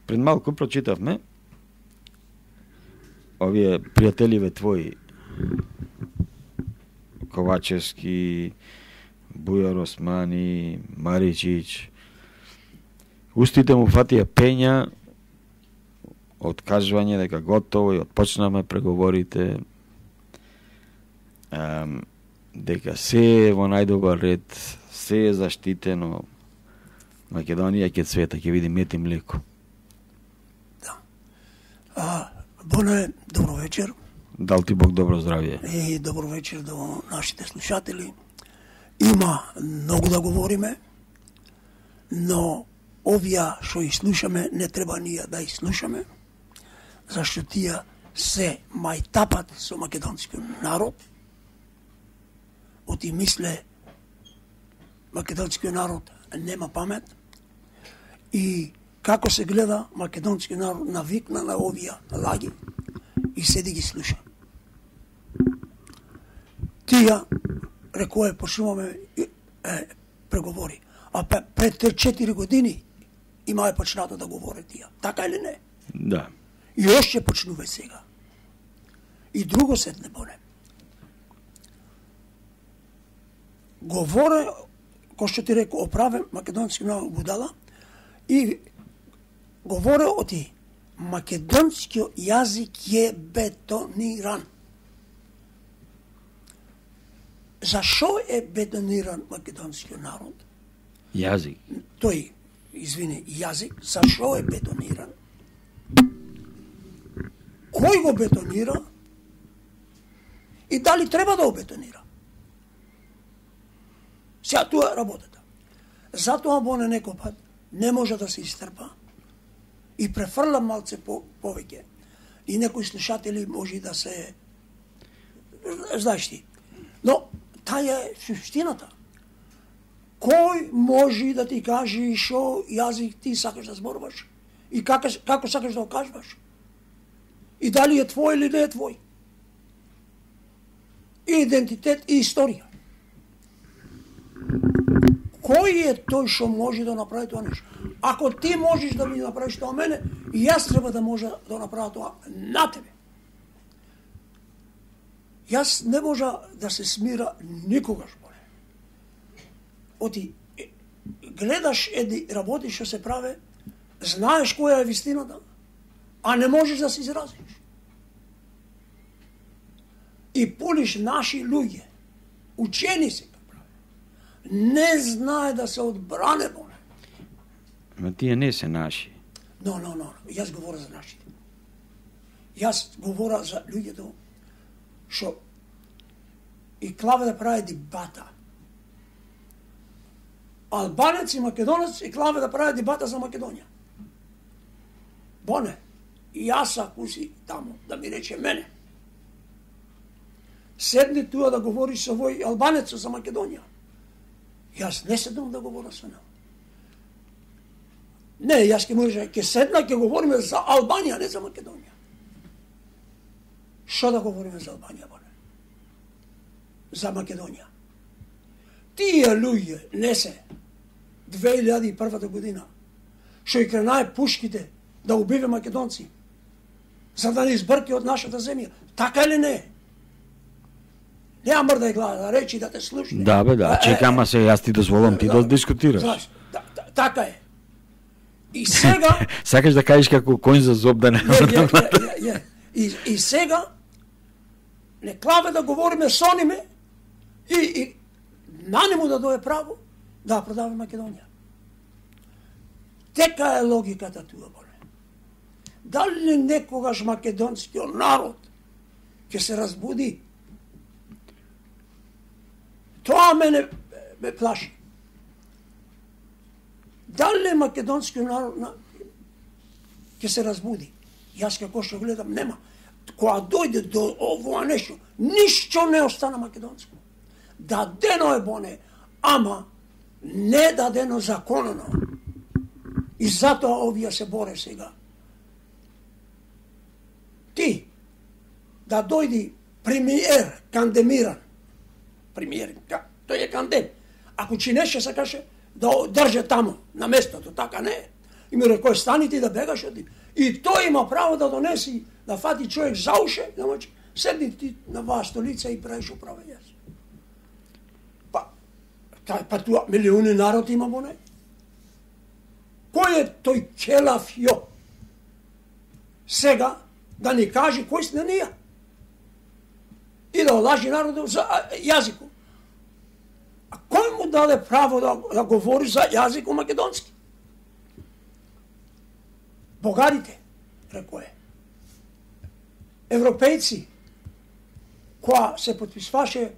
пред малку прочитавме овие пријателиве твои Ковачевски, Бујар Османи, Маричич, устите му фатија пења, откажување дека готово и отпочнаме преговорите, ем, дека се е во најдобар ред, се е заштитено, Македонија ќе цвета, ќе види мет и млеко. Да. А, Боне, добро вечер. Дал ти Бог добро здравје. И добро вечер до нашите слушатели. Има многу да говориме, но овие што и слушаме, не треба ние да и слушаме, зашто тие се мајтапат со македонскиот народ, оти мисле македонскиот народ нема памет и како се гледа македонскиот народ навикна на овие лаги и седи ги слуша. Тие, рекое, почнуваме е, преговори. А пред четири години има е почнато да говори тие. Така или не? Да. И още почнува сега. И друго седне боне. Говоре, кој што ти реко, оправе македонски много будала и говоре оти македонскиот јазик е бетониран. Зашо е бетониран македонскиот народ? Јазик. Тој, извини, јазик, зашо е бетониран? Кој го бетонира? И дали треба да го бетонира? Сега тоа е работата. Затоа боне некој пат не може да се истрпа и префрла малце по, повеќе. И некои слушатели може да се... Знаеш ти. Но таа е суштината. Кој може да ти каже шо јазик ти сакаш да зборуваш? И како, како сакаш да го кажуваш? И дали е твој или не е твој? И идентитет и историја. Кој е тој што може да направи тоа нешто? Ако ти можеш да ми направиш тоа мене, и јас треба да може да направя тоа на тебе. Јас не можа да се смира никогаш, боле. Оти, гледаш едни работи што се праве, знаеш која е вистината, а не можеш да се изразиш. И полиш наши луѓе, учени се, не знае да се одбране, боне. Ма тие не се наши. Но, но, но, јас говоря за нашите. Јас говоря за луѓето што и Клаве да прави дебата. Албанец и македонец и Клаве да прави дебата за Македонија. Боне, јас ако си тамо, да ми рече мене, седни туа да говориш со вој албанец за Македонија. Јас не седам да говорам со него. Не, јас ќе може, ќе седна, ќе говориме за Албанија, не за Македонија. Што да говориме за Албанија, боне? За Македонија. Тие луѓе не се две илјади и прва година, што и кренае пушките да убиве македонци, за да не избрки од нашата земја. Така или не? Нема мрда и глава да речи да те слушне. Да, бе, да. Чека, ама се јас ти дозволам ти да, да дискутираш. Знаеш, да, да, така е. И сега... Сакаш да кажеш како коњ за зоб да не... Je, je, je, je. И, и сега не Клаве да говориме со ниме и, и на нему да дое право да продава Македонија. Тека е логиката туа, боле. Дали некогаш македонскиот народ ќе се разбуди? Тоа мене ме плаши. Дали македонскиот народ на... ќе се разбуди? Јас како што гледам, нема. Кога дојде до овоа нешто, ништо не остана македонско. Дадено е, боне, ама не дадено законно. И затоа овие се боре сега. Ти, да дојди премиер, кандемиран, премиер, тој е кандем, ако чинеше се каже, да држе тамо, на местото, така не е. И ми рекој, стани ти да бегаш од нив. И тој има право да донеси, да фати човек за уше, да мочи, седни ти на вас столица и правиш управа јас. Па, та, па туа милиони народ има, боне? Кој е тој келав јо? Сега да ни каже кој сте ние? И да олажи народот за јазикот. А кој му даде право да, да говори за јазикот македонски? Богарите, рекој. Европејци, која се потписваше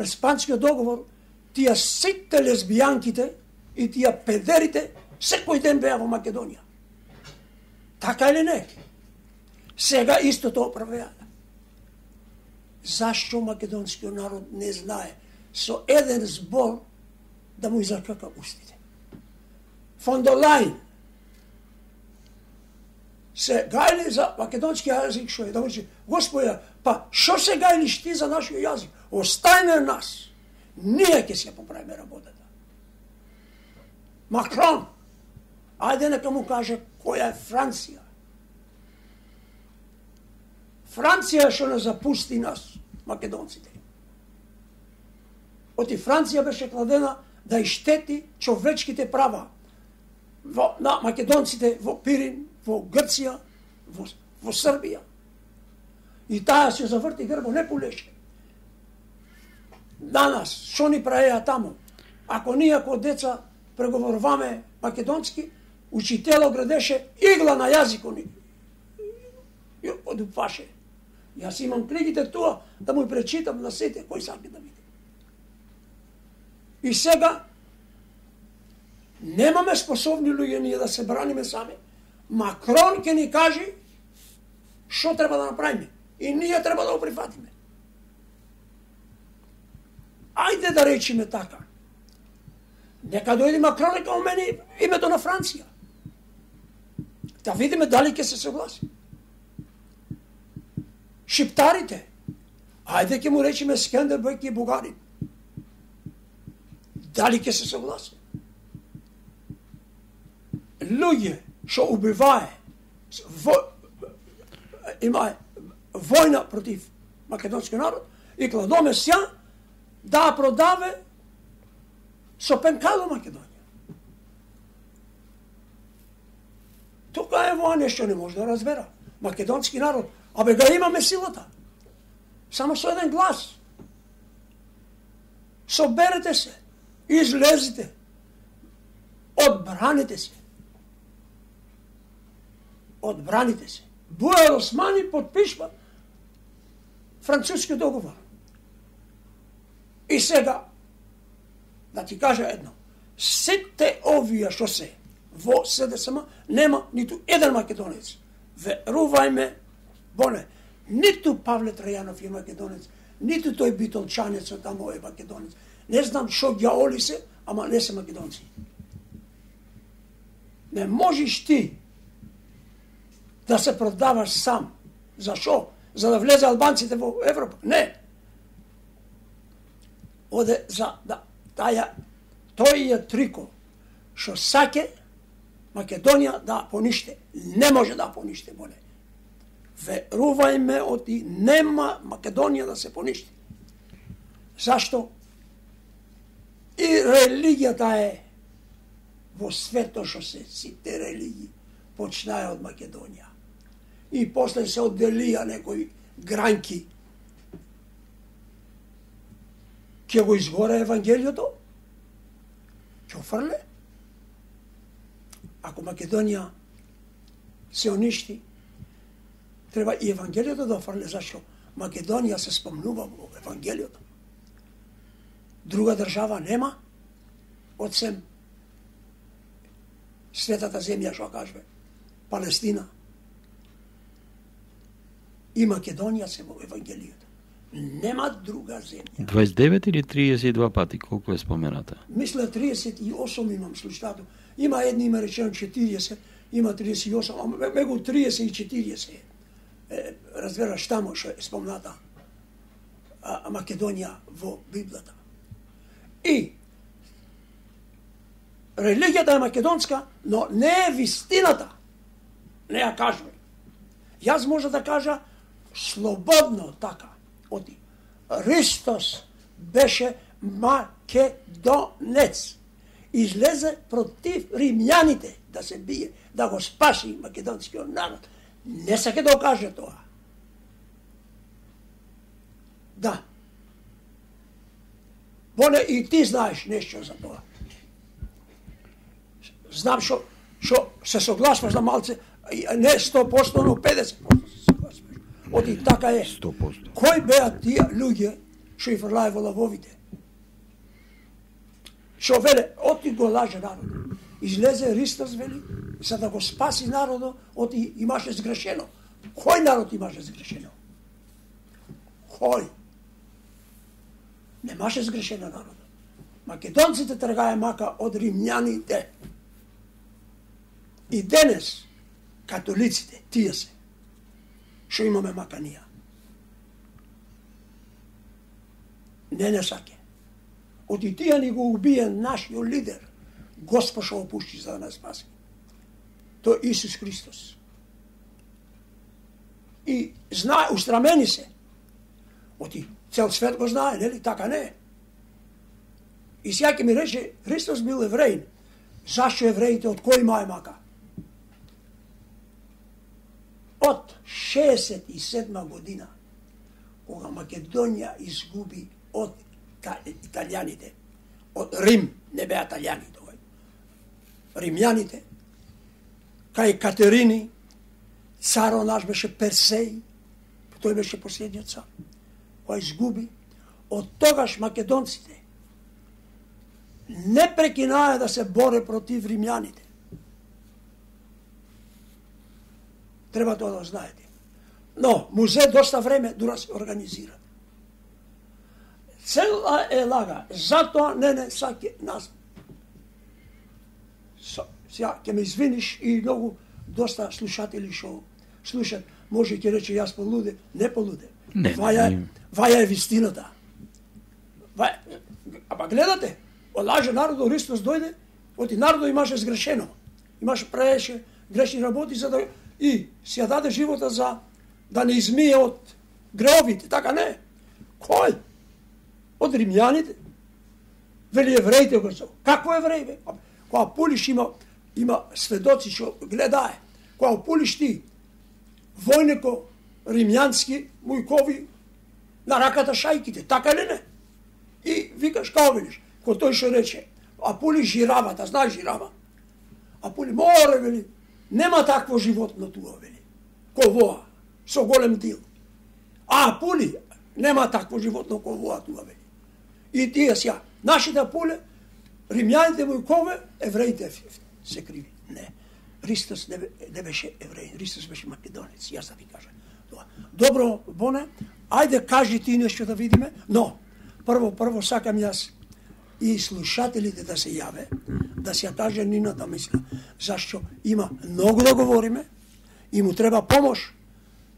през Панскиот договор, тие сите лесбијанките и тие педерите секој ден беа во Македонија. Така или не? Сега истото правеа. Зашто македонскиот народ не знае со еден збор да му изакака устите? Фон дер Лајн се гајли за македонски јазик, што е да му рече, Господја, па што се гајлиш ти за нашиот јазик? Остај на нас. Ние ќе се поправиме работата. Макрон, ајде нека му каже која е Франција. Франција што не запусти нас, македонците. Оти Франција беше кладена да иштети човечките права во, на македонците во Пирин, во Грција, во, во Србија. И таа се заврти грбо, не полеше. Данас, што ни праеа таму? Ако ние како деца преговоруваме македонски, учитело градеше игла на јазикот ни. И одупаше. Јас имам книгите туа да му пречитам на сите кој сака да види. И сега немаме способни луѓе ние да се браниме сами. Макрон ќе ни каже што треба да направиме. И ние треба да го прифатиме. Ајде да речиме така. Нека дојде Макрон и као мене името на Франција. Да видиме дали ќе се согласи. Шиптарите, ајде ќе му речиме Скендербег и Бугарин. Дали ќе се согласи? Луѓе што убивае, во, има војна против македонски народ и кладоме сја да продаве со пенкало Македонија. Тука е во нешто не може да разбера. Македонски народ, абе ga имаме силата. Само со еден глас. Соберете се, излезите, одбраните се. Одбраните се. Буер Османи подпишва француски договор. И сега, да ти кажа едно, сите овие што се во СДСМ нема ниту еден македонец. Верувајме, боне, ниту Павле Трајанов е македонец, ниту тој битолчанец од тамо е македонец. Не знам што ѓаоли се, ама не се македонци. Не можеш ти да се продаваш сам. Зашо? За да влезе албанците во Европа? Не. Оде за да таја тој е трико што саке Македонија да пониште. Не може да пониште, боне. Верувајме, оти нема Македонија да се поништи. Зашто? И религијата е во свето што се сите религии почнаа од Македонија. И после се одделија некои гранки. Ќе го изгоре Евангелието? Ќе офрле? Ако Македонија се уништи, треба и Евангелието да офрле. Зашто? Македонија се спомнува во Евангелието. Друга држава нема, одсем светата земја, што кажме, Палестина. И Македонија се во Евангелието. Нема друга земја. дваесет и девет или триесет и два пати, колку е спомената? Мисля триесет и осум имам слушнато. Има едни има речено четириесет, има триесет и осум, а мегу триесет и четириесет. Е, разбераш тамо што е спомната а, Македонија во Библијата. И религијата е македонска, но не е вистината. Не ја кажме. Јас може да кажа слободно така. Оти. Христос беше македонец. Излезе против римјаните да се бие, да го спаси македонскиот народ. Не саке да каже тоа. Да. Боне и ти знаеш нешто за тоа. Знам што што се согласуваш на малце, не сто проценти, но педесет проценти се согласуваш. Оти така е. сто проценти. Кој беа тие луѓе што и фрлае во лавовите. Што веле, оти го лаже народот. Излезе Христос, вели, за да го спаси народот, оти имаше сгрешено. Кој народ имаше сгрешено? Кој? Немаше сгрешено народот. Македонците тргае мака од римјаните. И денес, католиците, тие се, што имаме мака ние. Не не саке. Оти тие ни го убие нашиот лидер, Господ што опушти за да нас спаси. Тој Исус Христос. И знае, устрамени се. Оти цел свет го знае, нели? Така не е. И сега ќе ми рече, Христос бил евреин. Зашто евреите, од кој мај мака? Од шеесет и седма година, кога Македонија изгуби од италијаните, од Рим, не беа италијани тој, римјаните, кај Катерини, царо наш беше Персеј, тој беше последниот цар, кој изгуби, од тогаш македонците не прекинаа да се боре против римјаните. Треба тоа да знаете. Но, музе доста време дура се организира. Цела е лага, затоа не не саке нас. Сега ќе ме извиниш и многу доста слушатели што слушат, може ќе рече јас полуде, не полуде. Не, ваја, не. ваја е вистината. Ваја, ама гледате, лаже народот, Христос дојде, оти народот имаше сгрешено. Имаше праеше грешни работи за да и си ја даде живота за да не измие од греовите, така не. Кој? Од римјаните. Вели евреите го се. Какво евреи бе? Кога пулиш има има сведоци што гледае. Кога пулиш ти војнико римјански мујкови на раката шајките, така ли не? И викаш као велиш, кој тој што рече, а пули жиравата, знаеш жирава? А пули море вели, нема такво животно туа вели. Ко воа, со голем дил. А пули нема такво животно ко воа туа вели. И тие сега, нашите пуле, римјаните мујкове, евреите се криви. Не. Христос не, не беше евреин, Христос беше македонец, јас да ви кажам. Добро, Боне, ајде кажи ти нешто да видиме, но прво, прво сакам јас и слушателите да се јаве, да се ја каже нината мисла, зашто има многу да говориме и му треба помош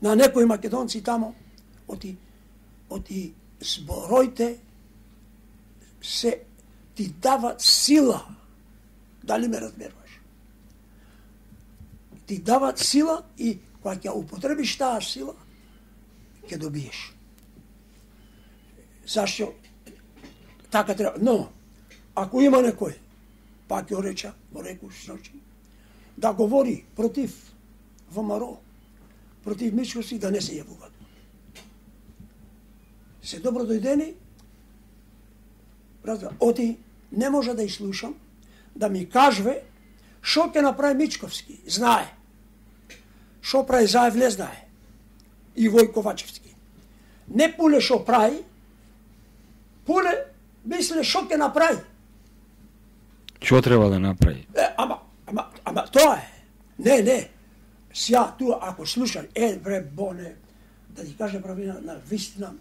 на некои македонци тамо, оти, оти збороите се ти дават сила, дали ме разберуваш? Ти дават сила и кога ќе употребиш таа сила, ќе добиеш. Зашто така треба? Но, ако има некој, пак ќе реча, го реку сночи, да говори против ВМРО, против Мичковски, да не се јавуваат. Се добро дојдени, разбира, оти не може да изслушам, да ми кажве шо ќе направи Мичковски, знае. Шо прави Заев знае. И Вој Ковачевски. Не пуле шо прави, пуле мисле шо ќе направи. Што треба да направи? Е, ама, ама, ама тоа е. Не, не. Сја туа, ако слушам, е, бре, Боне, да ти каже правина на вистина,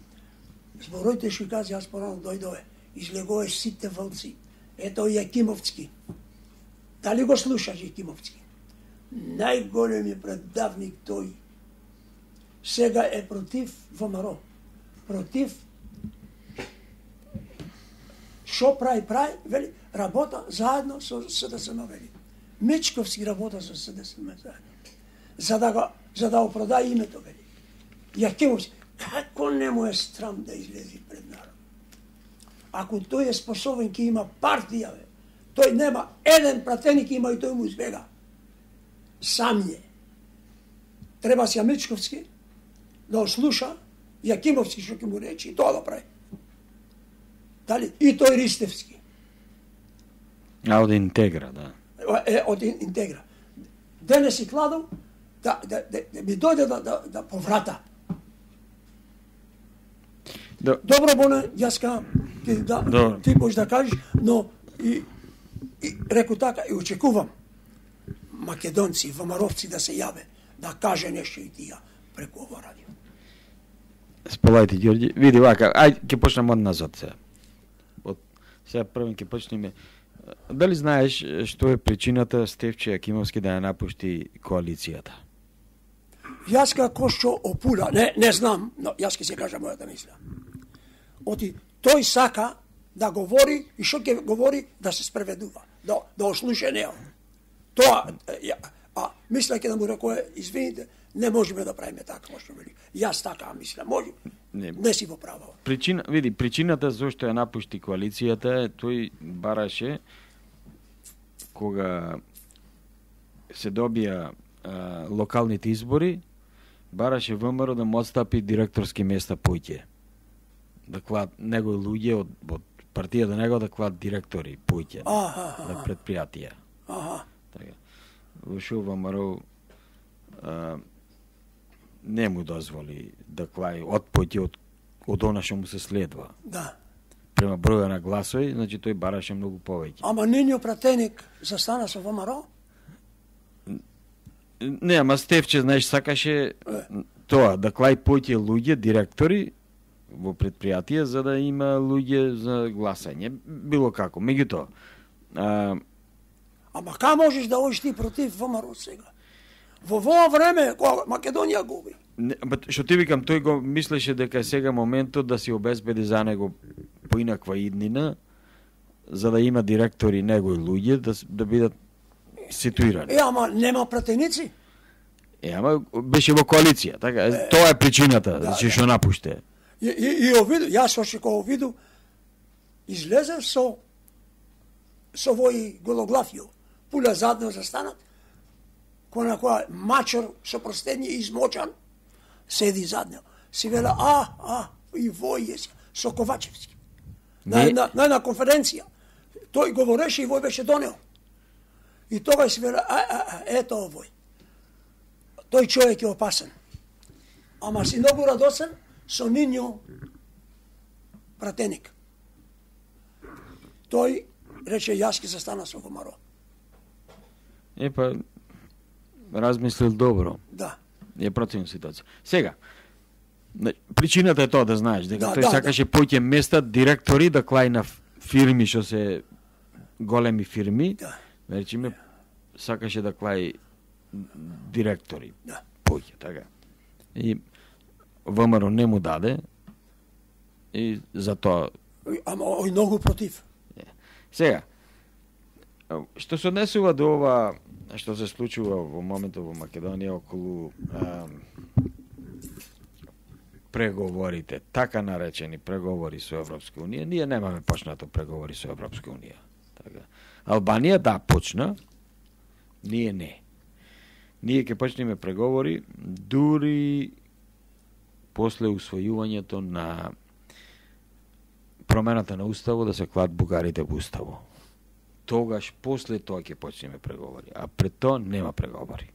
збороите што кази, јас порано дојдове, излегуваш сите вълци. Ето Јакимовски. Дали го слушаш Јакимовски? Најголемиот предавник тој. Сега е против ВМРО. Против шо прави, прави, вели, работа заедно со СДСМ, вели. Мичковски работа со СДСМ заедно. За да го, за да опродаде името, вели. Јакимовски, како не му е страм да излези пред народ? Ако тој е способен, ќе има партија, бе. Тој нема еден пратеник, има и тој му избега. Сам е. Треба си Мичковски да ослуша Јакимовски што ќе му речи и тоа да прави. Дали? И тој Ристевски. А од Интегра, да. Е, од Интегра. Денес и кладов да, да, да, да ми дојде да, да, да поврата. Да. Добро, Боне, јас ка, да, Добро. ти можеш да кажеш, но и, и реку така, и очекувам македонци, ВМРО-вци да се јаве, да каже нешто и тија преку ово радио. Сполајте, Ѓорѓи. Види вака, ај ќе почнеме од назад сега. Од сега првен ќе почнеме. Дали знаеш што е причината Стефче Јакимовски да ја напушти коалицијата? Јас како што опула, не, не знам, но јас ќе се кажа мојата мисла. Оти, тој сака да говори и што ќе говори да се спреведува, да, да ослуша нео. Тоа, ја, а мисля ќе да му рекое, извините, не можеме да правиме така, како што вели. Јас така мисля, може, Не. не си во право. Причина, види, причината зашто ја напушти коалицијата е тој бараше кога се добија а, локалните избори, бараше ВМРО да му отстапи директорски места поќе. Да клад негови луѓе од, од партијата него да клад директори поќе Аха, на предпријатија. Аха. Така. Во шо ВМРО а, не му дозволи да клај од поќе од, од она што му се следва. Да. Према броја на гласови, значи тој бараше многу повеќе. Ама нивниот пратеник застана со ВМРО? Не, ама Стефче, знаеш, сакаше тоа, да клај поќе луѓе, директори во предпријатија, за да има луѓе за гласање. Било како. Меѓутоа, а, Ама ка можеш да одиш ти против ВМРО сега? Во во време кога Македонија губи. не, ба, што ти викам, тој го мислеше дека е сега моментот да си обезбеди за него поинаква иднина, за да има директори негови луѓе, да, с- да бидат ситуирани. Е, ама нема пратеници? Е, ама беше во коалиција, така? Е, тоа е причината, да, значи да. што напуште. И, и, и овиду, јас още кога виду, излезе со со вој гологлавјо, пуля задно застанат, која на која мачор со прстење измочан, седи задно. Си вела, а, а, и вој е си, со Ковачевски. На, Не. на, на една конференција. Тој говореше и вој беше донел. И тогаш си вела, а, а, а, ето овој. Тој човек е опасен. Ама си многу радосен со нинјо пратеник. Тој рече, јас ќе застана со ВМРО. Е, па, размислил добро. Да. Е противна ситуација. Сега, на- причината е тоа да знаеш, дека Да, тој да, сакаше поќе места директори да клај на ф- фирми што се големи фирми, Да. речиме, сакаше да клај директори Да. поќе, така. И ВМРО не му даде и затоа. Ама ој многу против. Сега, што се однесува до ова што се случува во моментот во Македонија околу а, преговорите, така наречени преговори со Европска унија, ние немаме почнато преговори со Европска унија. Така. Албанија да почна, ние не. Ние ќе почнеме преговори дури после усвојувањето на промената на уставо да се клат бугарите во уставо. Тогаш после тоа ќе почнеме преговори, а пред тоа нема преговори.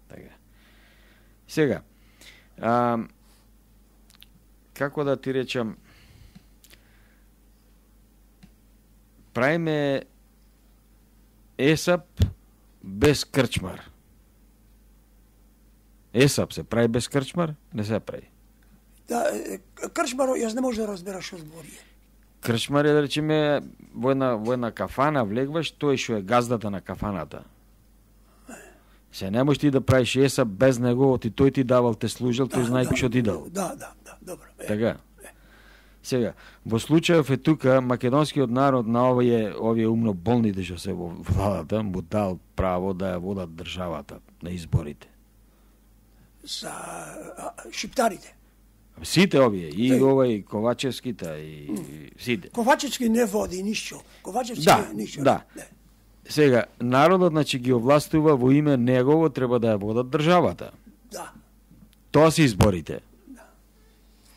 Така. Сега, а, како да ти речам, правиме ЕСАП без крчмар. ЕСАП се прави без крчмар? Не се прави. Да, е, крчмаро, јас не може да разберам што збори. Крчмар е, да речеме, во една, во една кафана влегваш, тој што е газдата на кафаната. Се не можеш ти да правиш ЕСАП без него, ти тој ти давал, те служил, тој знае што ти дал. Да, да, да, добро. Е, Така. Сега, во случајов е тука македонскиот народ на овие овие умно болните што се во владата му дал право да ја водат државата на изборите. За а, шиптарите. Сите овие, и Тој- овај Ковачевските и сите. Ковачевски не води ништо. Ковачевски Да, не, ништо. да. Не. Сега, народот, значи, ги овластува во име негово, треба да ја водат државата. Да. Тоа се изборите.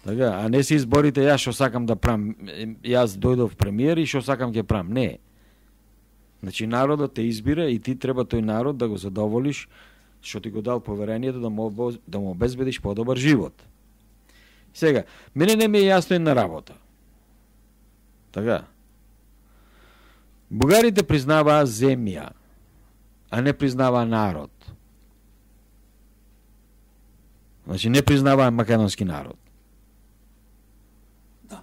Така, а не се изборите јас што сакам да правам, е, јас дојдов премиер и што сакам ќе правам. Не. Значи народот те избира и ти треба тој народ да го задоволиш што ти го дал поверението да му, обоз- да му обезбедиш подобар живот. Сега, мене не ми е јасно една работа. Така. Бугарите признаваа земја, а не признаваа народ. Значи не признаваа македонски народ. Да.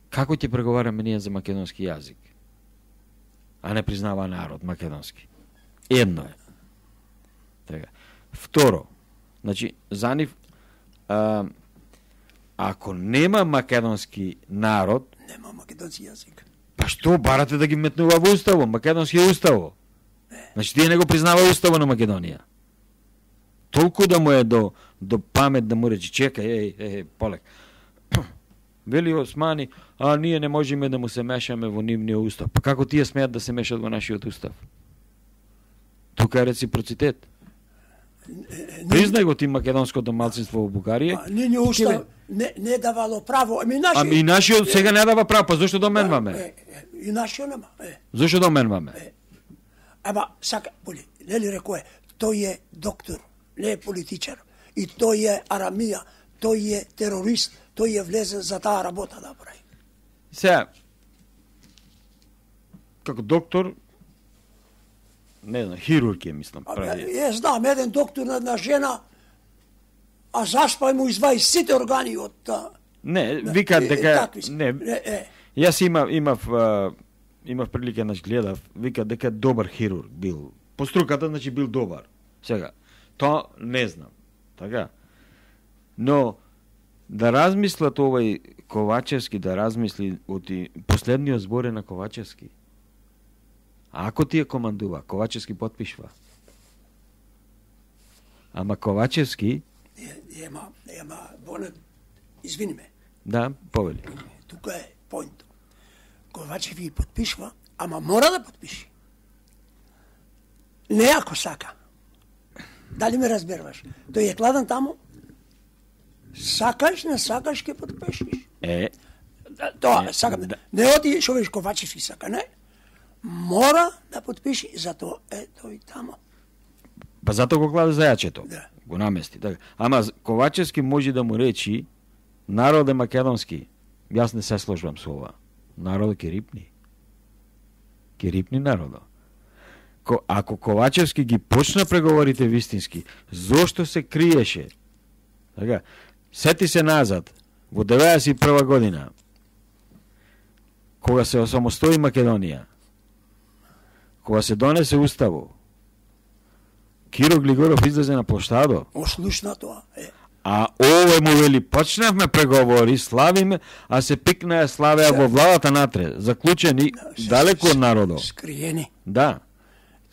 Како ќе преговараме ние за македонски јазик? А не признаваа народ македонски. Едно е. Така. Второ, значи за нив а, ако нема македонски народ, Нема македонски јазик. па што барате да ги метнува во уставо? Македонски е уставо. Значи тие не го признава уставо на Македонија. Толку да му е до, до памет да му рече, чекај, еј, еј, полек. Вели Османи, а ние не можеме да му се мешаме во нивниот устав. Па како тие смеат да се мешат во нашиот устав? Тука е реципроцитет. Признај го ти македонското малцинство во Бугарија. А, нивниот устав не, не давало право. Ами нашиот... Ами и нашиот сега не дава право, па зошто доменваме? Е, е, и нашиот нема. Е. Зошто доменваме? Е. Ама, сака, боли, нели рекоe, тој е доктор, не е политичар. И тој е арамија, тој е терорист, тој е влезен за таа работа да прави. Сега, како доктор, не знам, хирург е, мислам, прави. Е, знам, еден доктор на една жена, а заспај му изваи сите органи од... Не, викаат дека... Не, не, е. Јас имав, имав, а, имав прилика, значи, гледав, викаат дека добар хирург бил. По струката, значи, бил добар. Сега, тоа не знам. Така? Но, да размислат овој Ковачевски, да размисли оти последниот збор е на Ковачевски. А ако тие командува, Ковачевски потпишва. Ама Ковачевски... Ема, ема, Бонет, извини ме. Да, повели. Тука е поинт. Ковачев ги потпишва, ама мора да потпиши. Не ако сака. Дали ме разберваш? Тој е кладен таму, сакаш, не сакаш, ке потпишиш. Е, Тоа, е, сакам. да. Не оди шо веш Ковачев и сака, не. Мора да потпиши, затоа е тој таму. па затоа го кладе за јачето. Да. Го намести. Така. Ама Ковачевски може да му речи народ е македонски. Јас не се сложувам со ова. Народот ќе рипни. Ќе рипни народот. Ко, ако Ковачевски ги почна преговорите вистински, зошто се криеше? Така, сети се назад, во деветдесет и прва година, кога се осамостои Македонија, кога се донесе уставо, Киро Глигоров излезе на площадо, Ослушна тоа, е. а овој му вели, почнавме преговори, славиме, а се пикнаа славеа во владата натре, заклучени далеко од народот. Скриени. Да.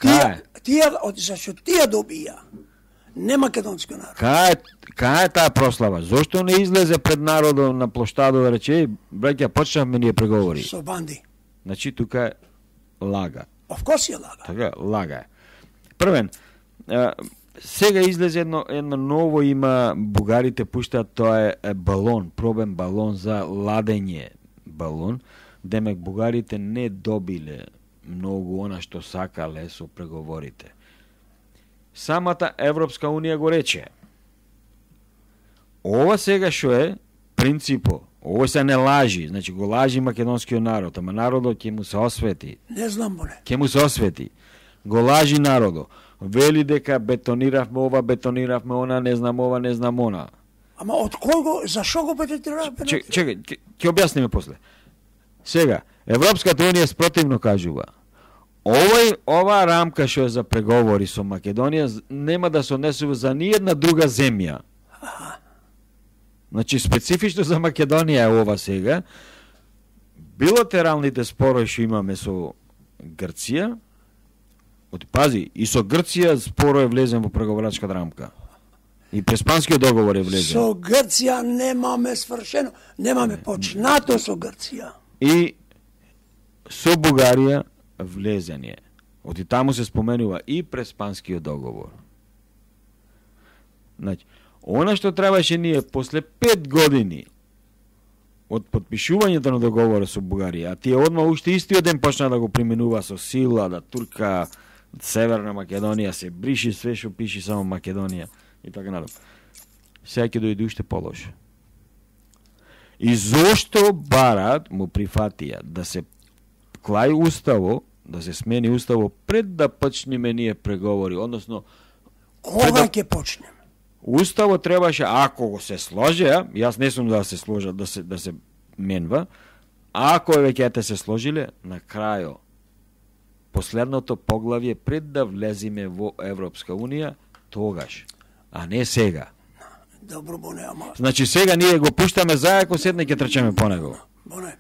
Тие, Кај? тие, од- зашто тие добија, не македонски народ. Кај, кај е таа прослава? Зошто не излезе пред народот на площадот да рече, «Еј, браќа, почнавме ние преговори». Со банди. Значи, тука е лага. Овкоси е лага. Така, лага е. Првен, а, сега излезе едно, едно ново има, бугарите пуштаат, тоа е, е балон, пробен балон за ладење балон. Демек, бугарите не добиле многу она што сакале со преговорите. Самата Европска Унија го рече. Ова сега што е принципо, ово се не лажи, значи го лажи македонскиот народ, ама народот ќе му се освети. Не знам, боле. Ќе му се освети. Го лажи народот. Вели дека бетониравме ова, бетониравме она, не знам ова, не знам она. Ама од кој го, зашо го пететира? Чек, чекај, ќе- ќе објасниме после. Сега, Европската Унија спротивно кажува. Овој, ова рамка што е за преговори со Македонија з- нема да се однесува за ниједна друга земја. Значи, специфично за Македонија е ова сега. Билатералните спорови што имаме со Грција, оти пази, и со Грција споро е влезен во преговорачка рамка. И Преспанскиот договор е влезен. Со Грција немаме свршено, немаме почнато со Грција. И со Бугарија влезен е. Оти таму се споменува и Преспанскиот договор. Значи, она што требаше ние после пет години од подпишувањето на договорот со Бугарија, а тие одма уште истиот ден почна да го применува со сила, да турка Северна Македонија, се бриши све што пиши само Македонија и така надам. Сега ќе дојде уште полошо. И зошто барат му прифатија да се клај уставо, да се смени уставо пред да почнеме ние преговори, односно Кога да... ќе почнем? Уставо требаше, ако го се сложи, јас не сум да се сложа, да се да се менва, ако веќе се сложиле, на крајо последното поглавје пред да влезиме во Европска унија, тогаш, а не сега. Добро, Боне, ама... Значи сега ние го пуштаме зајако, седне ќе трчеме по него. Боне,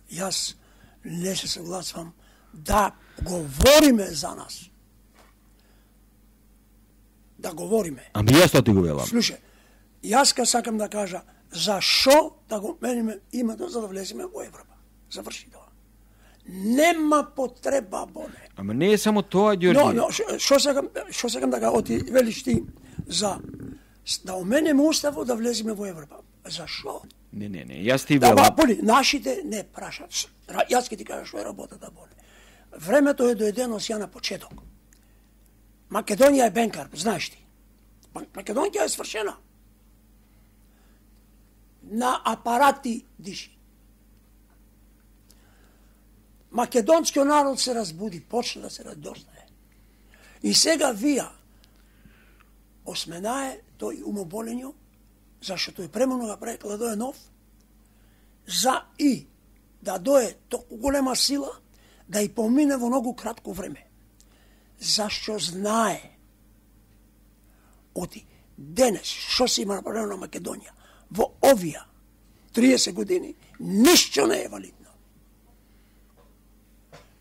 јас не се согласувам да говориме за нас. Да говориме. Ами јас тоа ти го велам. Слушај, јас ка сакам да кажа, зашо да го мениме името за да влеземе во Европа. Заврши тоа. Нема потреба, Боне. Ама не е само тоа, Ѓорѓи. Но, но, шо сакам, шо сакам да га оти велиш ти за да оменеме уставо да влеземе во Европа. Зашо? Не, не, не, јас ти Да, велам. ба, Боли, нашите не прашат. Јас ќе ти кажа што е работата, Боли. Времето е доедено сја на почеток. Македонија е бенкар, знаеш ти. Македонија е свршена. На апарати диши. Македонскиот народ се разбуди, почна да се радознае. И сега вија осменае тој умоболењо, зашто тој премно ga прекла да е нов, за и да дое толку голема сила, да и помине во многу кратко време. Зашто знае оти денес што се има направено на Македонија во овие триесет години, ништо не е валидно.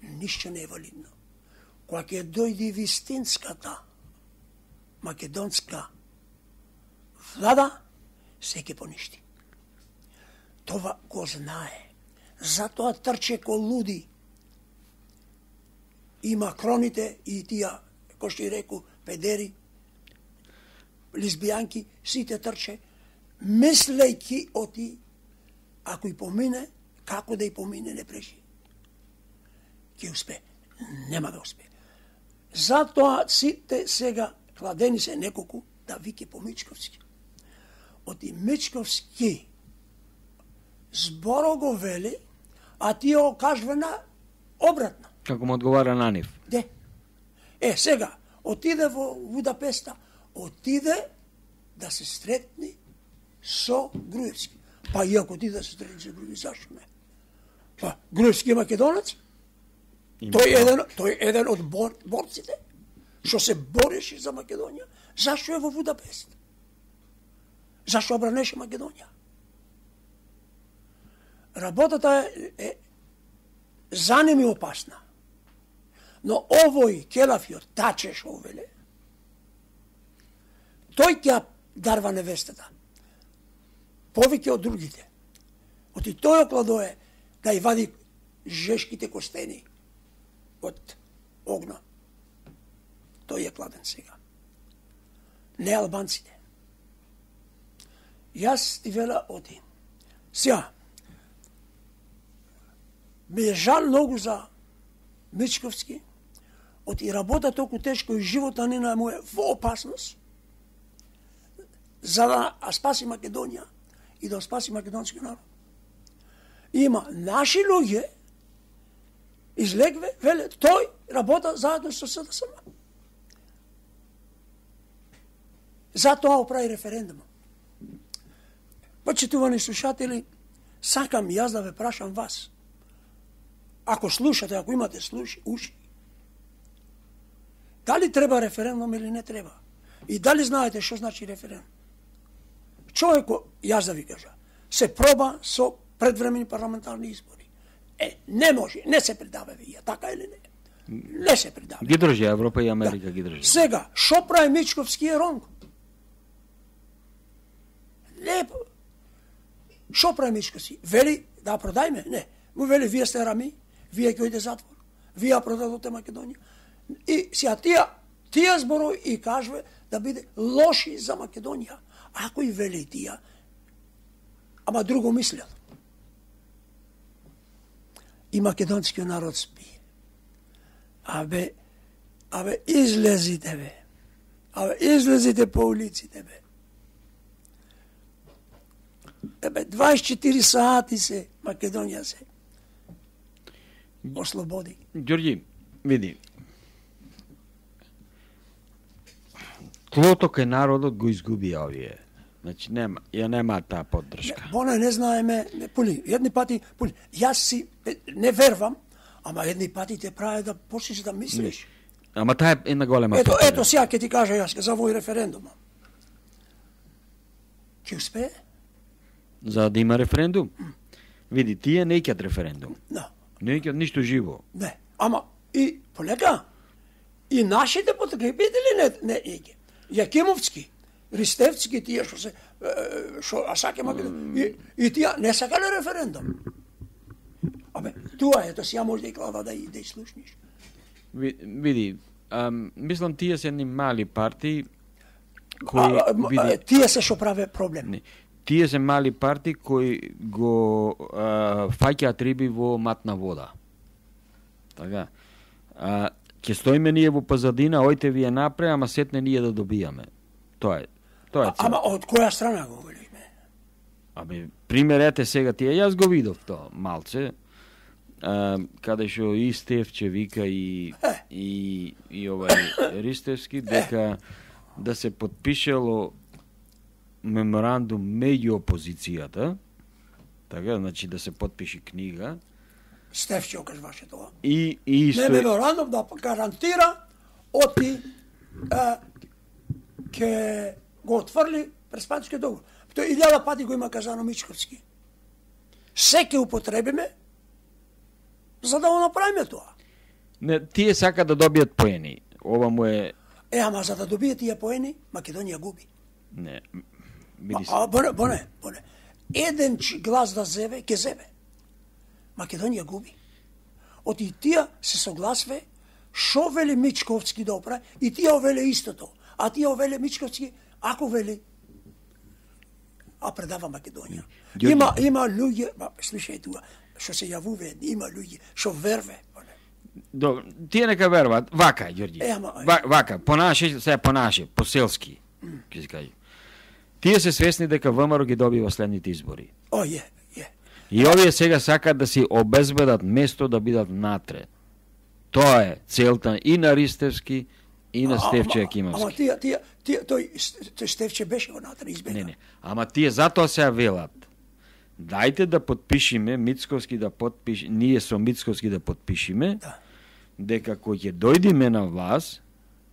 Ништо не е валидно. Кога ќе дојде вистинската македонска влада, се ќе поништи. Това го знае. Затоа трче ко луди. И макроните, и тија, кој што и реку, педери, лесбијанки, сите трче, мислејки оти, ако и помине, како да и помине, не прежи. Ќе успе. Нема да успе. Затоа сите сега кладени се неколку да вике по Мичковски. Оти Мичковски зборо го вели, а тие го кажува на обратно. Како му одговара на нив. Де? Е, сега, отиде во Будапеста, отиде да се сретни со Груевски. Па и ако отиде да се сретни со Груевски, зашто не? Па, Груевски е македонец? Тој е еден, тој е еден од бор, борците, што се бореше за Македонија. Зашто е во Будапест? Зашто обранеше Македонија? Работата е, е занеми опасна. Но овој Келафиот, таче шо веле, тој ќе дарва невестата. Повеќе од другите. Оти тој окладое да ја вади жешките костени од огна. Тој е кладен сега. Не албанците. Јас ти вела оти. Сега, ме е жал многу за Мичковски, оти работа толку тешко и живота нина му е во опасност, за да спаси Македонија и да спаси македонски народ. Има наши луѓе, излегве, веле, тој работа заедно со СДСМ. Затоа оправи референдум. Почитувани слушатели, сакам јас да ве прашам вас. Ако слушате, ако имате слуши, уши, дали треба референдум или не треба? И дали знаете што значи референдум? Човеко, јас да ви кажа, се проба со предвремени парламентарни избори. Е, не може, не се придава вие, така или не? Не се придава. Ги држи Европа и Америка, Да. ги држи. Сега, шо прави Мичковски е ронг? Не, шо прави Мичковски? Вели да продајме? Не. Му вели, вие сте рами, вие ќе ојде затвор, вие продадоте Македонија. И сега тија, тија зборови и кажува да биде лоши за Македонија. Ако и вели тија, ама друго мислел. И македонскиот народ спие. Абе, абе, излезите, бе. Абе, излезите по улиците, бе. ебе, дваесет и четири сати се Македонија се ослободи. Ѓорѓи, види. Тлото кај народот го изгуби овие. Значи нема, ја нема таа поддршка. Боне не знаеме, не, пули, едни пати, пули, јас си не вервам, ама едни пати те прави да почнеш да мислиш. Ама таа е една голема Ето, победа. ето сега ќе ти кажа јас за овој референдум. Ќе успее? За да има референдум? Види, тие не икат референдум. Да. Не икат ништо живо. Не, ама и полека, и нашите потребители не не ике. Јакимовски, Ристевцки, тие што се е, што а саке Македонија, и, и тие не сакале референдум. Абе, тоа ето сега може да и клава да и да и слушниш. Ви- Види, ам, мислам тие се едни мали партии кои А, а, види, а, тие се што праве проблем. не, тие се мали партии кои го а, фаќаат риби во матна вода. Така. А, ќе стоиме ние во позадина, ојте вие напре, ама сетне ние да добијаме. Тоа е. Тоа е А, цел. ама од која страна го велиме? Абе, пример ете сега тие, јас го видов тоа малце, а, каде што и Стефче вика и, Е. и, и овај Ристевски, дека да се подпишело меморандум меѓу опозицијата, така, значи да се подпиши книга, Стефче окажуваше тоа. и, и Не исто... меморандум да гарантира оти а, ке го отврли преспанскиот договор. Тоа илјада пати го има казано Мичковски. Се ке употребиме за да го направиме тоа. Не, тие сака да добијат поени. Ова му е... Е, ама за да добие тие поени, Македонија губи. Не, А, види се. а боне, боне, боне. Еден ч- глас да зеве, ке зеве. Македонија губи. Оти тие се согласве шо вели Мичковски да оправи и тие овеле истото. А тие овеле Мичковски, ако вели, а предава Македонија. Ѓорѓе. Има има луѓе, ба слушај туа, што се јавуве, има луѓе што верве. боне. Добро, тие нека веруваат. Вака, Ѓорѓи. Е, ама, Ва, вака, понаше, сега понаше, поселски, ќе се каже. Тие се свесни дека ВМРО ги добива следните избори. О, е, е. И овие сега сакаат да си обезбедат место да бидат натре. Тоа е целта и на Ристевски и на А, Стефче ама- Јакимовски. Ама тие, тие, тие, тој, тој Стефче беше внатре избега. Не, не. Ама тие затоа се велат. Дајте да подпишиме, Мицковски да подпиши, ние со Мицковски да подпишиме, Да. дека кој ќе дојдеме на власт,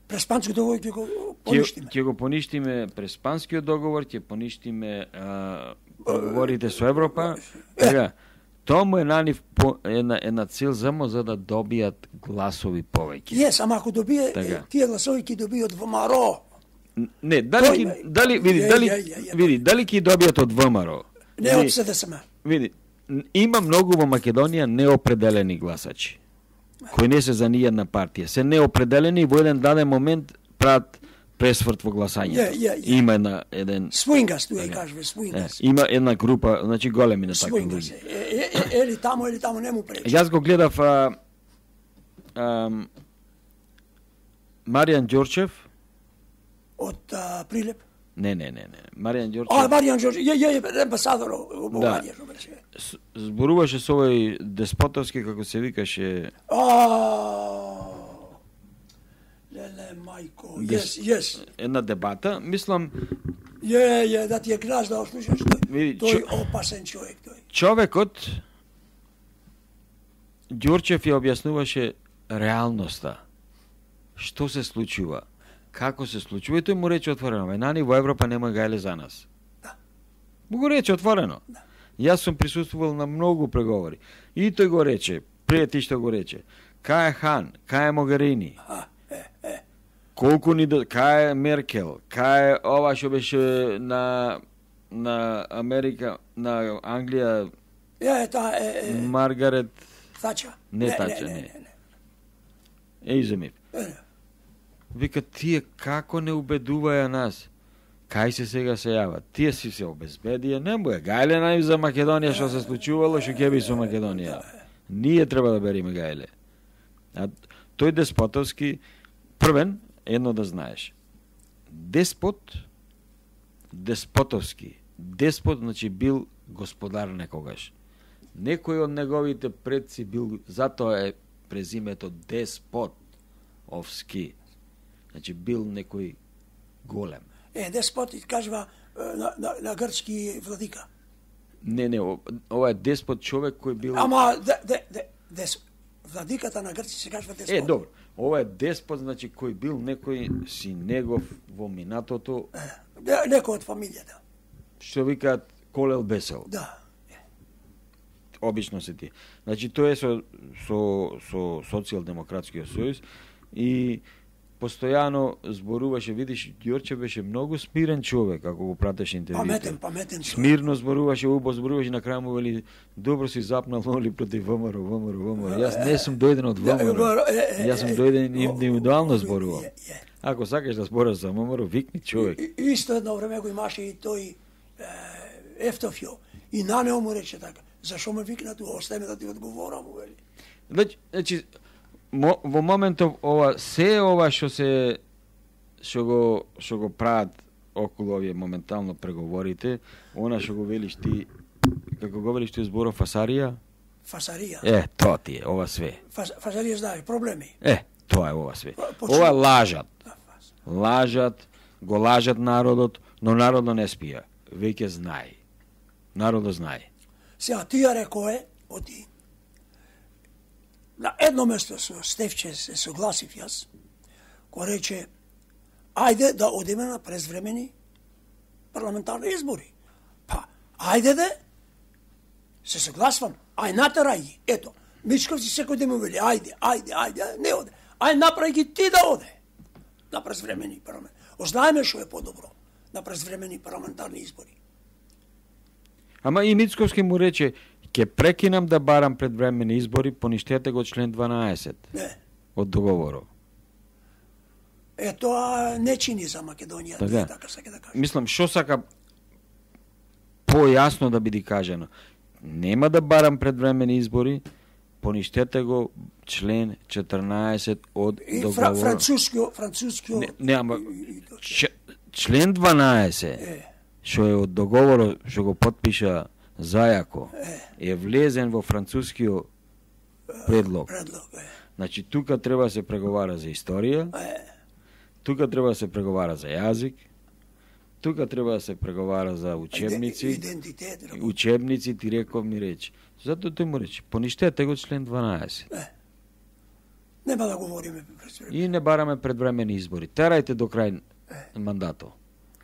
Преспанскиот договор ќе го ќе поништиме. ќе го поништиме Преспанскиот договор, ќе поништиме а, договорите со Европа. Така, тоа му е на нив по, една, една цел само за да добијат гласови повеќе. Јес, ама ако добие, Така. е, тие гласови ќе добијат во МАРО. Не, дали Тој ки, ме- дали види, Ја, дали ја, ја, ја. види, дали ќе добијат од ВМРО? Не од СДСМ. Види, н- има многу во Македонија неопределени гласачи, кои не се за ниједна партија. Се неопределени и во еден даден момент прават пресврт во гласањето. Ја, ја, ја. Има една, еден... Свингас, тоа ја Така. кажува, Е, свингас. има една група, значи големи на такви Свингас. луѓе. Е, е, е, ели таму, ели таму не му пречи. Јас го гледав а, а, Маријан Ѓорчев, Од а, Прилеп. не, не, не, не, Маријан А, Ѓорчев Маријан Џорџ, е, е, е, амбасадор во Да. Богатија, што беше. с- зборуваше со овој Деспотовски, како се викаше, А, леле, мајко, Дес- јес, јес. една дебата, мислам, Је, је, да ти е краш да ослушаш тој. Види, Тој чо- опасен човек тој. човекот Ѓорчев ја објаснуваше реалноста. Што се случува? Како се случува? И тој му рече отворено, вајнани во Европа нема гајле за нас. Да. Му го рече отворено. Јас сум присуствувал на многу преговори. И тој го рече, пред ти што го рече, кај е Хан, кај е Могарини, А, е, е. колку ни до... кај е Меркел, кај е ова што беше на на Америка, на Англија, Ја е та, е, е, Маргарет Тача. Не Тача, не. не. Ейземив. не. Вика, тие како не убедуваја нас? Кај се сега се јават? Тие си се обезбедија, не му е гајле наив за Македонија што се случувало, што ќе би со Македонија. Ние треба да бериме гајле. А тој Деспотовски, првен, едно да знаеш. Деспот, Деспотовски деспот, значи бил господар некогаш. Некој од неговите предци бил, затоа е презимето деспот овски. Значи бил некој голем. Е, деспот кажува на, на, на грчки владика. Не, не, ова е деспот човек кој бил... Ама, де, де, де, дес, владиката на грци се кажува деспот. Е, добро. Ова е деспот, значи кој бил некој си негов во минатото... Е, некој од фамилијата. Што викаат колел бесел. Да. Обично се ти. Значи тоа е со со со социјалдемократскиот сојуз и постојано зборуваше, видиш, Ѓорче беше многу смирен човек ако го пратеше интервјуите. Паметен, паметен човек. Смирно зборуваше, убо зборуваше, на крај му вели добро си запнал моли против ВМРО, ВМРО, ВМРО. Јас не сум дојден од ВМРО. Јас сум дојден индивидуално зборувам. Ако сакаш да збораш за ВМРО, викни човек. И, исто едно време го имаше и тој е, Ефтофио. И на него му рече така. Зашо ме викна ту, остај ме да ти одговорам, вели. Значи, значи мо, во моментов ова се ова што се што го што го прават околу овие моментално преговорите, она што го велиш ти, како го велиш ти зборов фасарија? Фасарија. Е, тоа ти е, ова све. Фас, фасарија знаеш, проблеми. Е, тоа е ова све. Почему? Ова лажат. Да, фас. Лажат, го лажат народот, но народот не спија. Веќе знае. Народот знае. Сега, тија рекое, оти, на едно место со Стефче се согласив јас, кој рече, ајде да одиме на презвремени парламентарни избори. Па, ајде да, се согласвам, ај натерај ги, ето, Мичковци секој ден му вели, ајде, ајде, ајде, не оде, ај направи ги ти да оде на презвремени парламент. Ознаеме што е подобро на презвремени парламентарни избори. Ама и Мицковски му рече, ќе прекинам да барам предвремени избори, поништете го член дванаесет Не. од договорот. Е, тоа не чини за Македонија, Така. така сака да кажа. Мислам, што сака појасно да биде кажано. Нема да барам предвремени избори, поништете го член четрнаесет од И фра, договорот. францускио, францускио... Не, не, ама, и- и- Ч, член дванаесет, Е, што е од договорот, што го потпиша зајако, е влезен во францускиот предлог. предлог, е. Значи, тука треба да се преговара за историја, Е, тука треба да се преговара за јазик, тука треба да се преговара за учебници, идентитет, рако- учебници, ти реков ми речи. Затоа тој му рече, поништете го член дванаесет. нема да говориме пред време. И не бараме предвремени избори. Терајте до крај мандатот.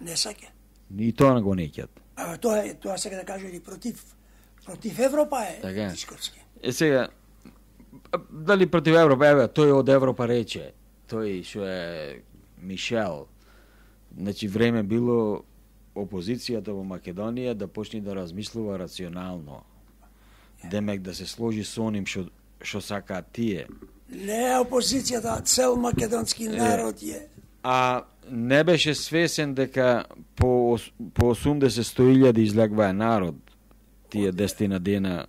Не саке. И тоа не го неќат. А тоа е, тоа сега да кажа и против против Европа е Така е. Мичковски. Е сега, а, дали против Европа, еве, тој од Европа рече, тој што е Мишел, значи време било опозицијата во Македонија да почне да размислува рационално. Демек да се сложи со оним што што сакаат тие. Не е опозицијата, цел македонски народ е. А не беше свесен дека по ос- по осумдесет до сто илјади излегваа народ тие десетина дена.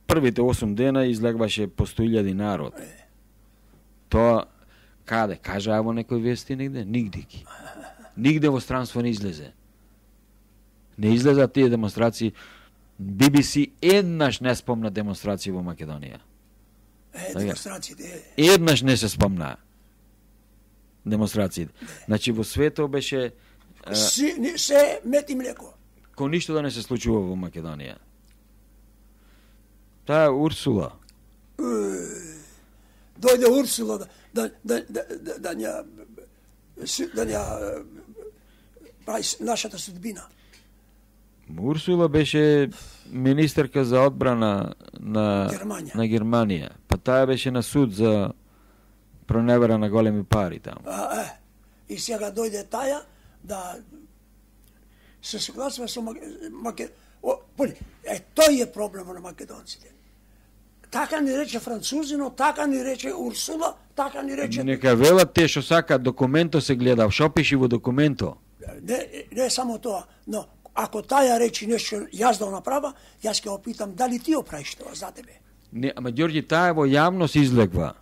Првите осум дена излегваше по сто илјади народ. Тоа каде? Кажа во некој вести негде? Нигде ги. Нигде во странство не излезе. Не излеза тие демонстрации. Би Би Си еднаш не спомна демонстрации во Македонија. Е, демонстрациите е. Еднаш не се спомна демонстрациите. Значи во светот беше е, Си, ни- се мет и млеко. кој ништо да не се случува во Македонија. Таа е Урсула. Дојде Урсула да да да да да да ја си- да ја прави с- нашата судбина. Урсула беше министерка за одбрана на Германија. на Германија. Па таа беше на суд за проневера на големи пари таму. А, е. И сега дојде таја да се согласува со Маке... Маке... О, поли, е, тој е проблемот на македонците. Така ни рече французино, така ни рече Урсула, така ни рече... Нека велат те што сака, документо се гледа, што пиши во документо. Не, не само тоа, но ако таја речи нешто јас да го направа, јас ќе опитам дали ти оправиш тоа за тебе. Не, ама Ѓорѓи, таа во јавност излегва.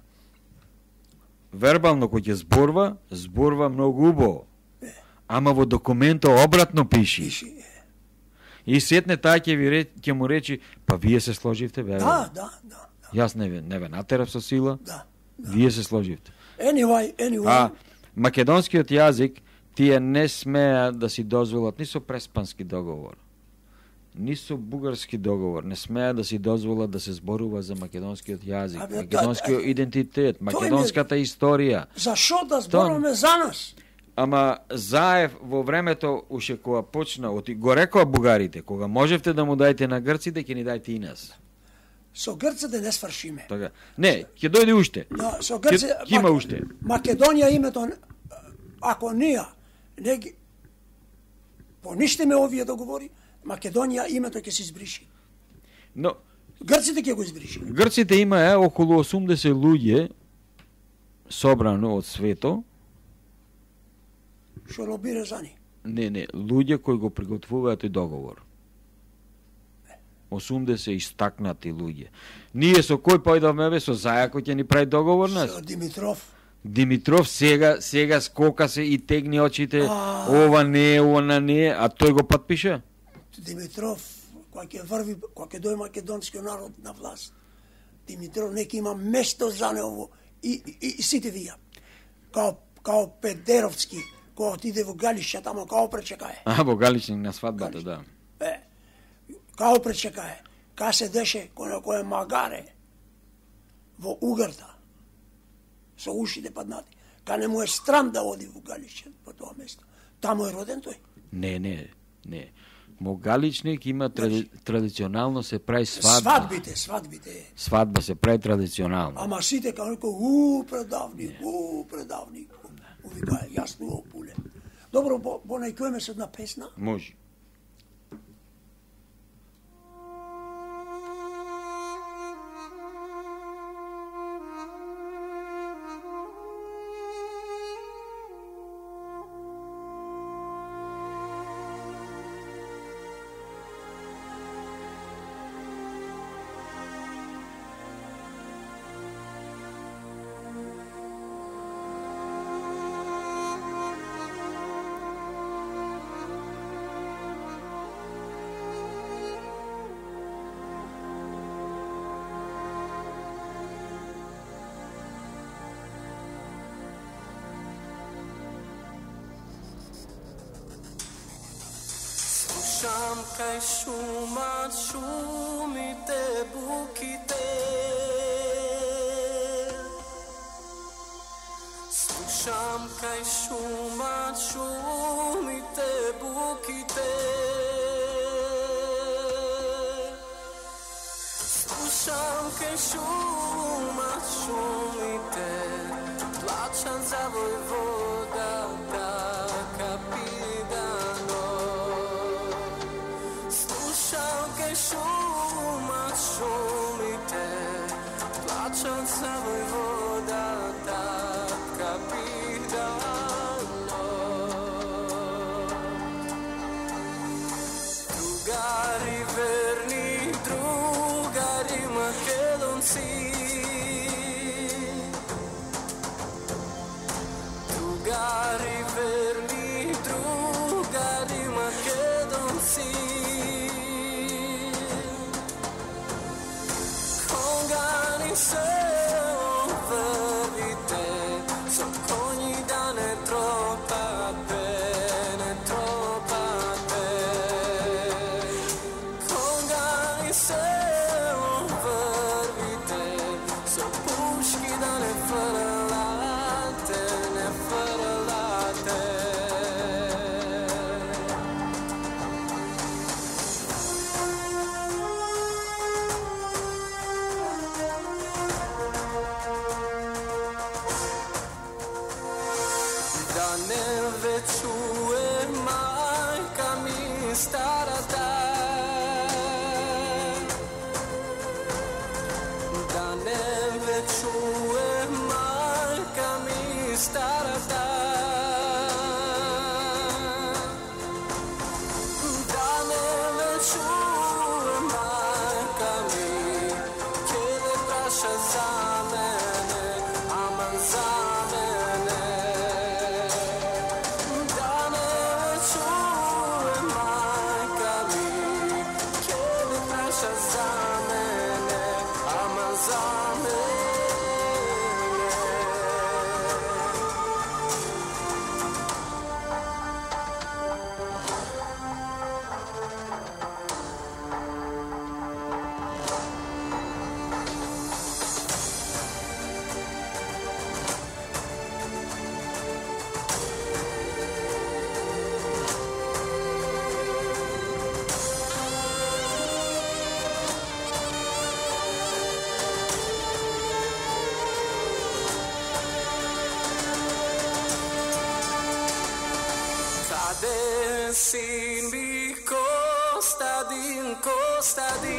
Вербално кој ќе зборва, зборва многу убаво. Ама во документо обратно пиши. Пиши, е. И сетне таа ќе ви ре, ќе му речи, па вие се сложивте, бе. Да, да, да. да. Јас не ве, не ве натерав со сила. Да, да. Вие се сложивте. Anyway, anyway. А македонскиот јазик тие не смеа да си дозволат ни со Преспански договор, ни со Бугарски договор, не смеа да си дозволат да се зборува за македонскиот јазик, Абе, македонскиот да, идентитет, македонската историја. Зашо да зборуваме за нас? Ама Заев во времето уште кога почна, оти го рекоа бугарите, кога можевте да му дајте на грците, ќе ни дајте и нас. Со грците не свршиме. Така. Не, ќе дојде уште. Да, со грците Ќе има уште. Македонија името, ако ние не ги поништиме овие договори, Македонија името ќе се избриши. Но Грците ќе го избриши. грците имаа околу осумдесет луѓе собрано од свето. Што лобира за ни. Не, не, луѓе кои го приготвуваат и договор. осумдесет истакнати луѓе. Ние со кој појдовме бе, со Зајако ќе ни прави договор нас? Со Димитров. Димитров сега сега скока се и тегни очите, А. ова не е, она не е, а тој го подпише? Димитров, кога ќе врви, кога ќе дојде македонскиот народ на власт, Димитров нека има место за него и, и, и сите вија. Као, као Педеровски, кога отиде во Галиша, тамо као пречекае. А, во Галичник на свадбата, да. Е, као пречекае. Ка се деше кој кој е магаре во угарта, со ушите паднати. Ка не му е страм да оди во Галиша, по тоа место. Таму е роден тој. Не, не, не. Во Галичник има тради, традиционално се прави свадба. Свадбите, свадбите. Свадба се прави традиционално. Ама сите као некој, у, предавник, у, предавник. Увика, јасно го пуле. Добро, бо, бо најкојме се една песна. Може. Слушам кај шумат шумите, буките. Слушам кај шумат шумите, буките. Слушам кај шумат шумите, плачам за војводата, капитано. Слушам кај шумат шумите, плачам за војводата, капитано. Другари верни, другари македонци, другари верни, другари македонци. Кога ни се врвите, со коњи да не тропате, не тропате. Кога ни се врвите, со пушки да не фрлате, не фрлате. sin mi Kostadin, Kostadin?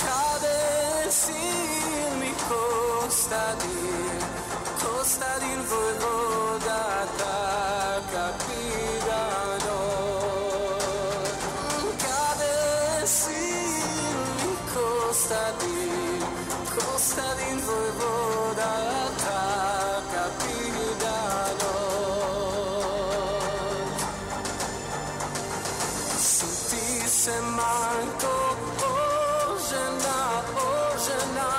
Cade sin mi Kostadin, Kostadin vojvoda ta capitano. Cade sin mi Kostadin, Kostadin vojvoda ta capitano. Sinti se manco o žena, o žena.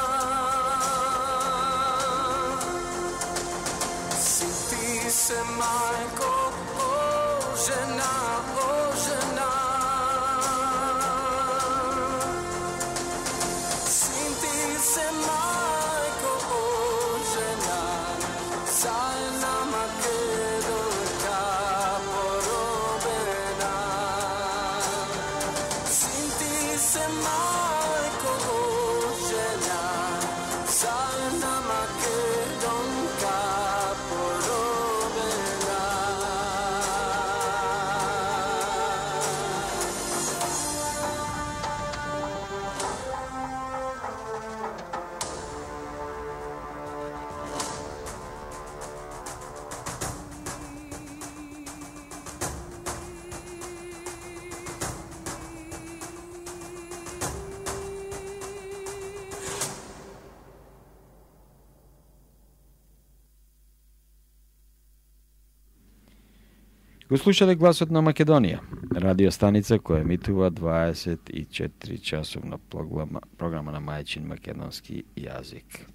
Sinti se manco o žena, o žena. Sinti se manco o žena, sajna makedonka porobena. Sinti se manco o žena, sajna makedonka porobena. Го слушате гласот на Македонија, радио станица која емитува дваесет и четири часовна програма, програма на мајчин македонски јазик.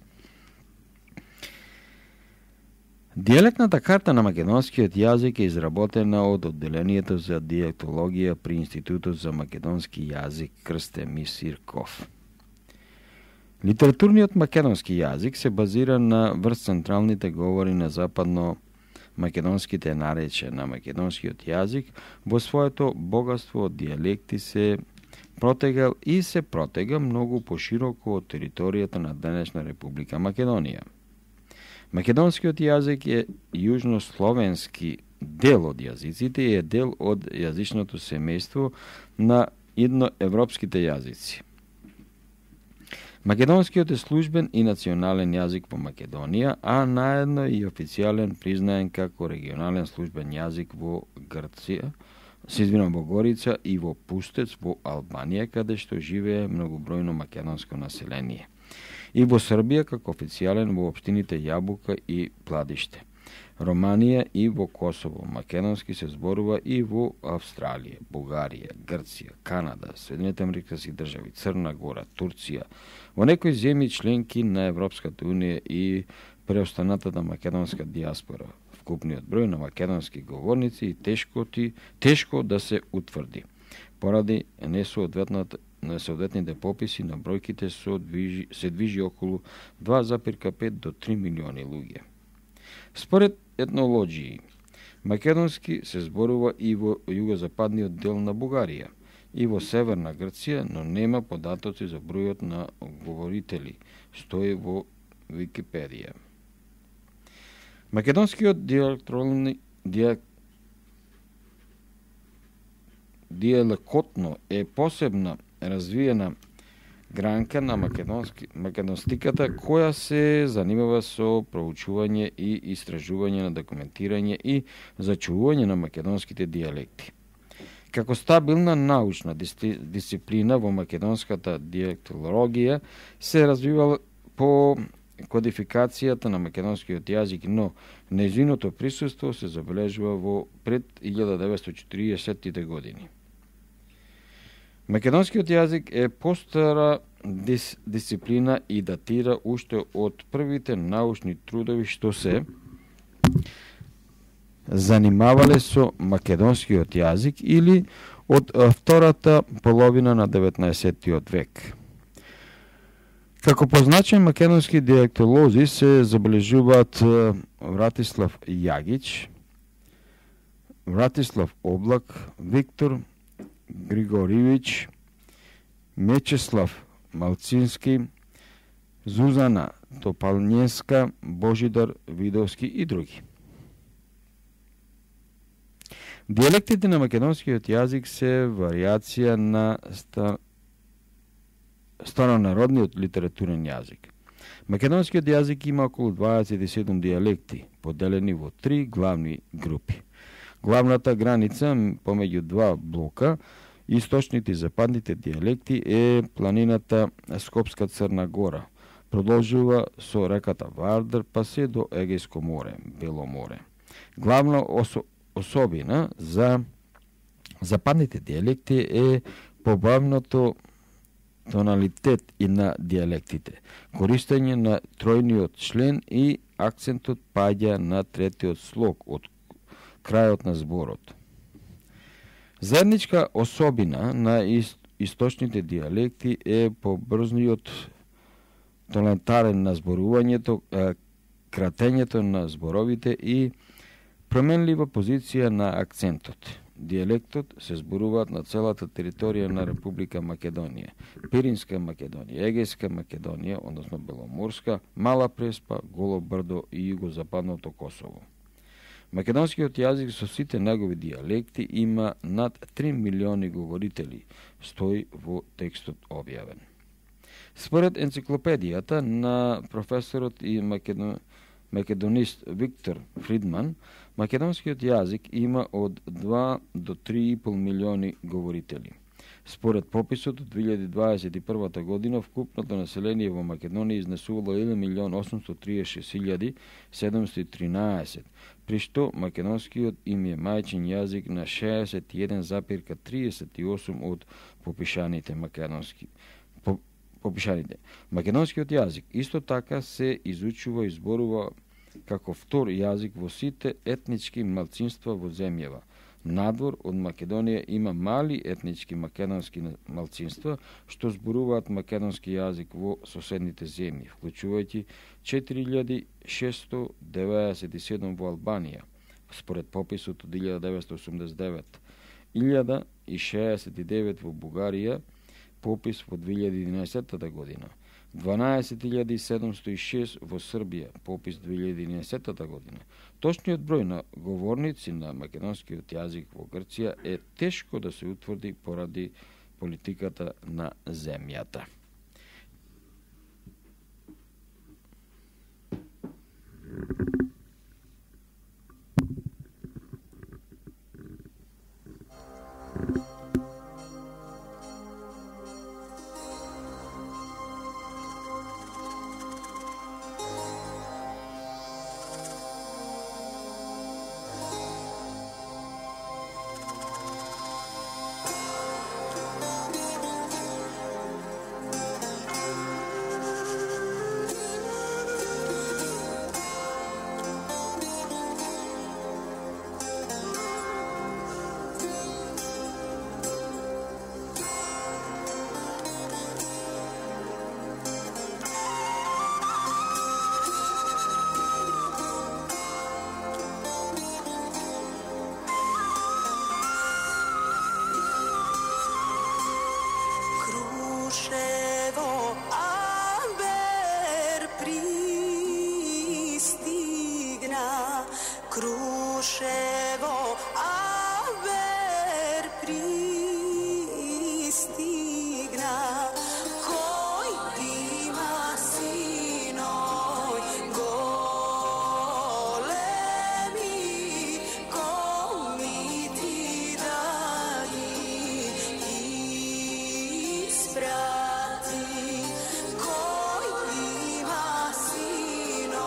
Дијалектната карта на македонскиот јазик е изработена од Одделението за дијалектологија при Институтот за македонски јазик Крсте Мисирков. Литературниот македонски јазик се базира на врз централните говори на западно македонските наречја на македонскиот јазик, во своето богатство од дијалекти се протегал и се протега многу пошироко од територијата на денешна Република Македонија. Македонскиот јазик е јужнословенски дел од јазиците и е дел од јазичното семејство на идноевропските јазици. Македонскиот е службен и национален јазик во Македонија, а наедно и официјален признаен како регионален службен јазик во Грција, се извинувам, во Горица и во Пустец во Албанија, каде што живее многобројно македонско население. И во Србија како официјален во општините Јабука и Пладиште. Романија и во Косово. Македонски се зборува и во Австралија, Бугарија, Грција, Канада, Соединените американски држави, Црна Гора, Турција, во некои земји членки на Европската унија и преостанатата македонска диаспора. Вкупниот број на македонски говорници и тешко, ти, тешко да се утврди. Поради несоодветните пописи на бројките движи, се движи околу два зарез пет до три милиони луѓе. Според етнологии, македонски се зборува и во југозападниот дел на Бугарија, и во северна Грција, но нема податоци за бројот на говорители, стои во Википедија. Македонскиот дијалектолни дијалекотно е посебна развиена гранка на македонски, македонстиката која се занимава со проучување и истражување на документирање и зачувување на македонските дијалекти. Како стабилна научна дисциплина во македонската дијалектологија се развивала по кодификацијата на македонскиот јазик, но нејзиното присуство се забележува во пред илјада деветстотини и четиридесеттите години. Македонскиот јазик е постара дис, дисциплина и датира уште од првите научни трудови што се занимавале со македонскиот јазик или од втората половина на деветнаесеттиот век. Како позначен македонски дијалектолози се забележуваат Вратислав Јагич, Вратислав Облак, Виктор Григориевич, Мечеслав Малцински, Зузана Топалњеска, Божидар Видовски и други. Диелектите на македонскиот јазик се варијација на ста... старонародниот литературен јазик. Македонскиот јазик има околу дваесет и седум дијалекти, поделени во три главни групи. Главната граница помеѓу два блока, источните и западните дијалекти, е планината Скопска Црна Гора. Продолжува со реката Вардар па се до Егејско море, Бело море. Главна осо... особина за западните дијалекти е побавното тоналитет и на дијалектите, користење на тројниот член и акцентот паѓа на третиот слог од крајот на зборот. Заедничка особина на источните дијалекти е побрзниот тонатарен на зборувањето, кратењето на зборовите и променлива позиција на акцентот. Диелектот се зборуваат на целата територија на Република Македонија, Пиринска Македонија, Егејска Македонија, односно Беломорска, Мала Преспа, Голо Брдо и југозападното Косово. Македонскиот јазик со сите негови дијалекти има над три милиони говорители, стои во текстот објавен. Според енциклопедијата на професорот и македон... македонист Виктор Фридман, македонскиот јазик има од два до три и пол милиони говорители. Според пописот од две илјади дваесет и прва година, вкупното население во Македонија изнесувало еден милион осумстотини триесет и шест илјади седумстотини и тринаесет, при што македонскиот им е мајчин јазик на шеесет и еден запир триесет и осум од попишаните македонски по, попишаните. Македонскиот јазик исто така се изучува и зборува како втор јазик во сите етнички малцинства во земјава. Надвор од Македонија има мали етнички македонски малцинства што зборуваат македонски јазик во соседните земји, вклучувајќи четири илјади шестстотини деветдесет и седум во Албанија, според пописот од илјада деветстотини осумдесет и девет, илјада и шеесет и девет во Бугарија, попис во две илјади и единаесетта година, дванаесет илјади седумстотини и шест во Србија, попис две илјади и единаесетта година. Точниот број на говорници на македонскиот јазик во Грција е тешко да се утврди поради политиката на земјата. Kruševo, aber pristigna, koji ima sinoj golemi, komi ti dali isprati, koji ima sinoj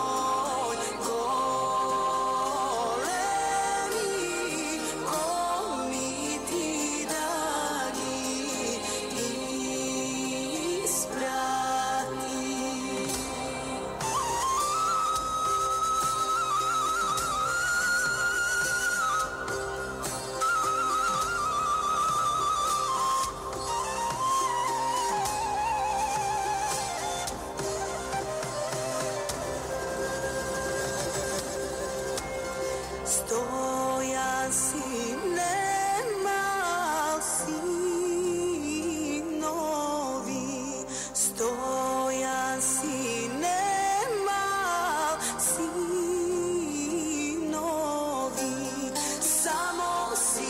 stojan si, nemal sinovi, stojan si, nemal sinovi, samo si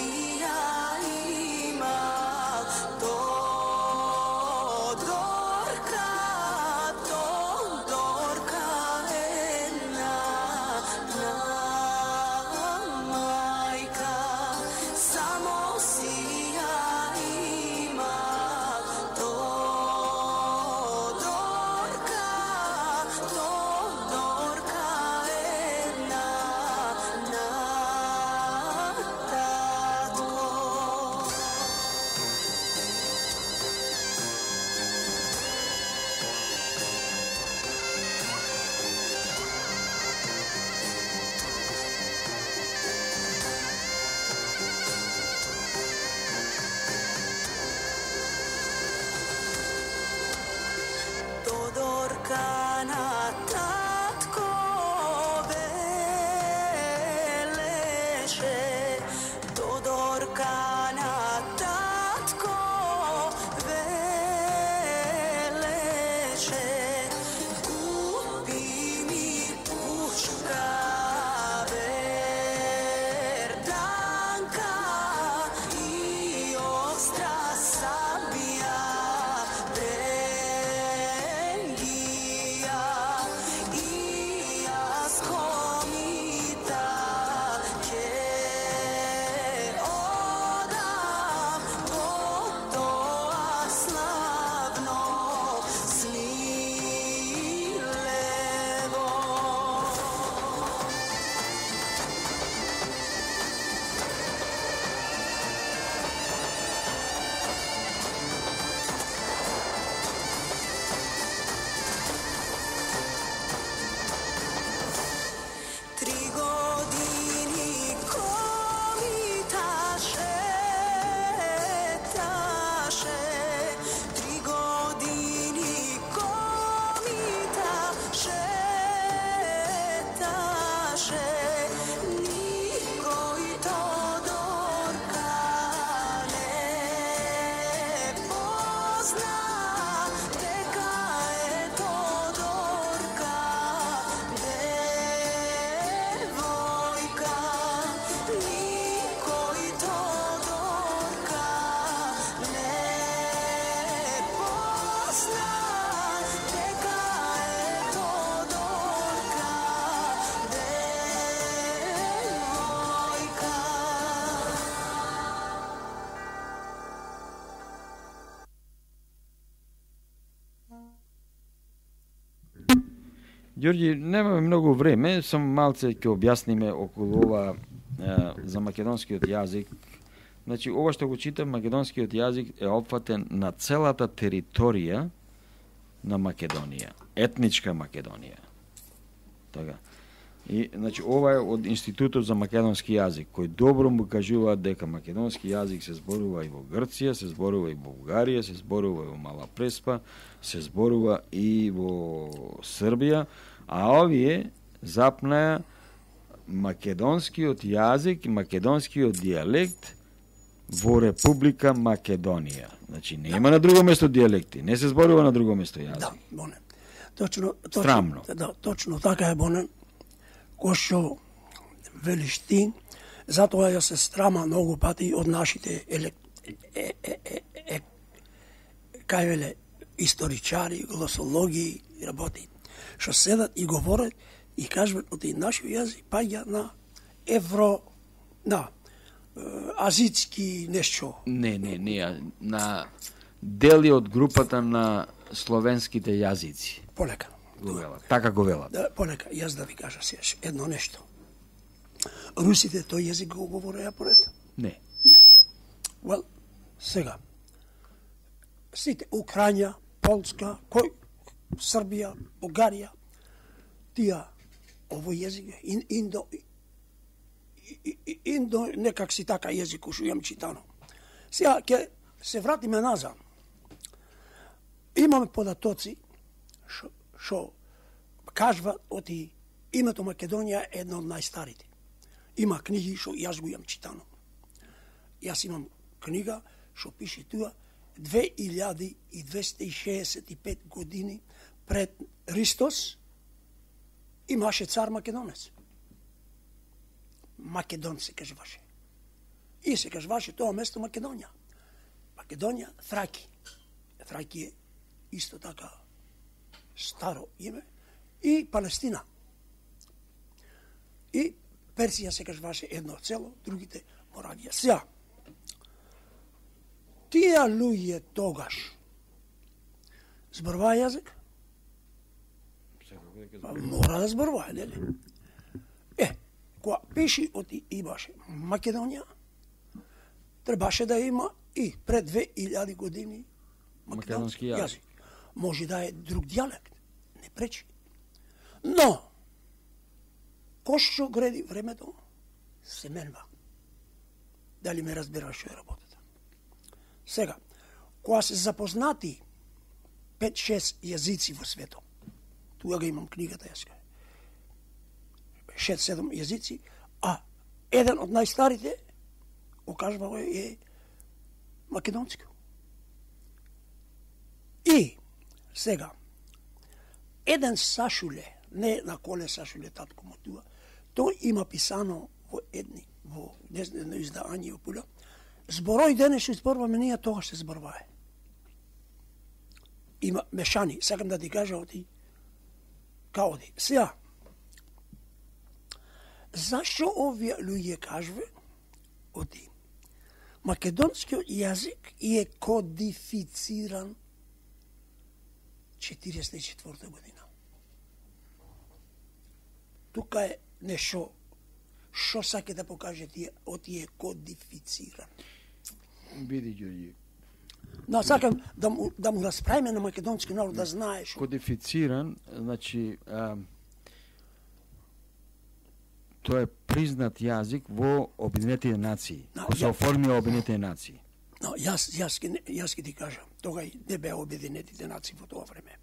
Ѓорѓи, немаме многу време, само малце ќе објасниме околу ова е, за македонскиот јазик. Значи, ова што го читам, македонскиот јазик е опфатен на целата територија на Македонија, етничка Македонија. Така. И, значи, ова е од Институтот за македонски јазик, кој добро му кажуваат дека македонски јазик се зборува и во Грција, се зборува и во Бугарија, се зборува и во Мала Преспа, се зборува и во Србија, а овие запнаја македонскиот јазик и македонскиот дијалект во Република Македонија. Значи, нема на друго место дијалекти, не се зборува на друго место јазик. Да, Бонен. Точно, точно, Страмно. Да, точно така е, Бонен. Кој што велиш ти, затоа ја се страма многу пати од нашите елек... е, е, е, е, кај веле историчари, глосологи и работи, што седат и говорат и кажат од нашиот јазик паѓа на евро, на е, азицки нешто. Не, не, не, на дели од групата на словенските јазици. Полека. Го велат. Така го велат. Да, полека, јас да ви кажа сега едно нешто. Русите тој јазик го говореа поред? Не. Well, сега. Сите Украина, Полска, кој Србија, Бугарија, тие овој јазик ин, индо и- и- индо некак си така јазик кој што имам читано. Сега ќе се вратиме назад. Имаме податоци што што кажува оти името Македонија е едно од најстарите. Има книги што јас го имам читано. Јас имам книга што пише туа две илјади двеста и шеесет и пет години пред Христос имаше цар македонец. Македон се кажуваше. И се кажуваше тоа место Македонија. Македонија, Траки. Траки е исто така старо име. И Палестина. И Персија се кажуваше едно цело, другите Моравија. Сега, тие луѓе тогаш зборуваа јазик? Мора да зборуваа, нели? Е, кога пиши оти имаше Македонија, требаше да има и пред две илјади години Македонски јазик. Може да е друг дијалект, не пречи. Но, кој што греди времето, се менва. Дали ме разбираш што е работата? Сега, кога се запознати пет-шест јазици во светот, тука го имам книгата јас, шест-седум јазици, а еден од најстарите, окажува е македонски. И, сега, еден Сашуле, не на коле Сашуле татко му туа, тој има писано во едни, во едно издање во Пуля, зборој денес што зборуваме ние, тогаш се зборувае. Има мешани, сакам да ти кажа оти, као оди. Сега, зашто овие луѓе кажува оти? Македонскиот јазик е кодифициран четириесет и четврта година. Тука е нешто што саке да покаже тие, оти е кодифициран. Биди, Ѓорѓи. Но сакам да му, да му расправиме на македонски народ да знаеш. Кодифициран, значи, а, тоа е признат јазик во Обединетите нации, No, кој се ја- оформија Обединетите нации. Но јас јас ке јас ке ти кажам, тогај не беа Обединетите нации во тоа време.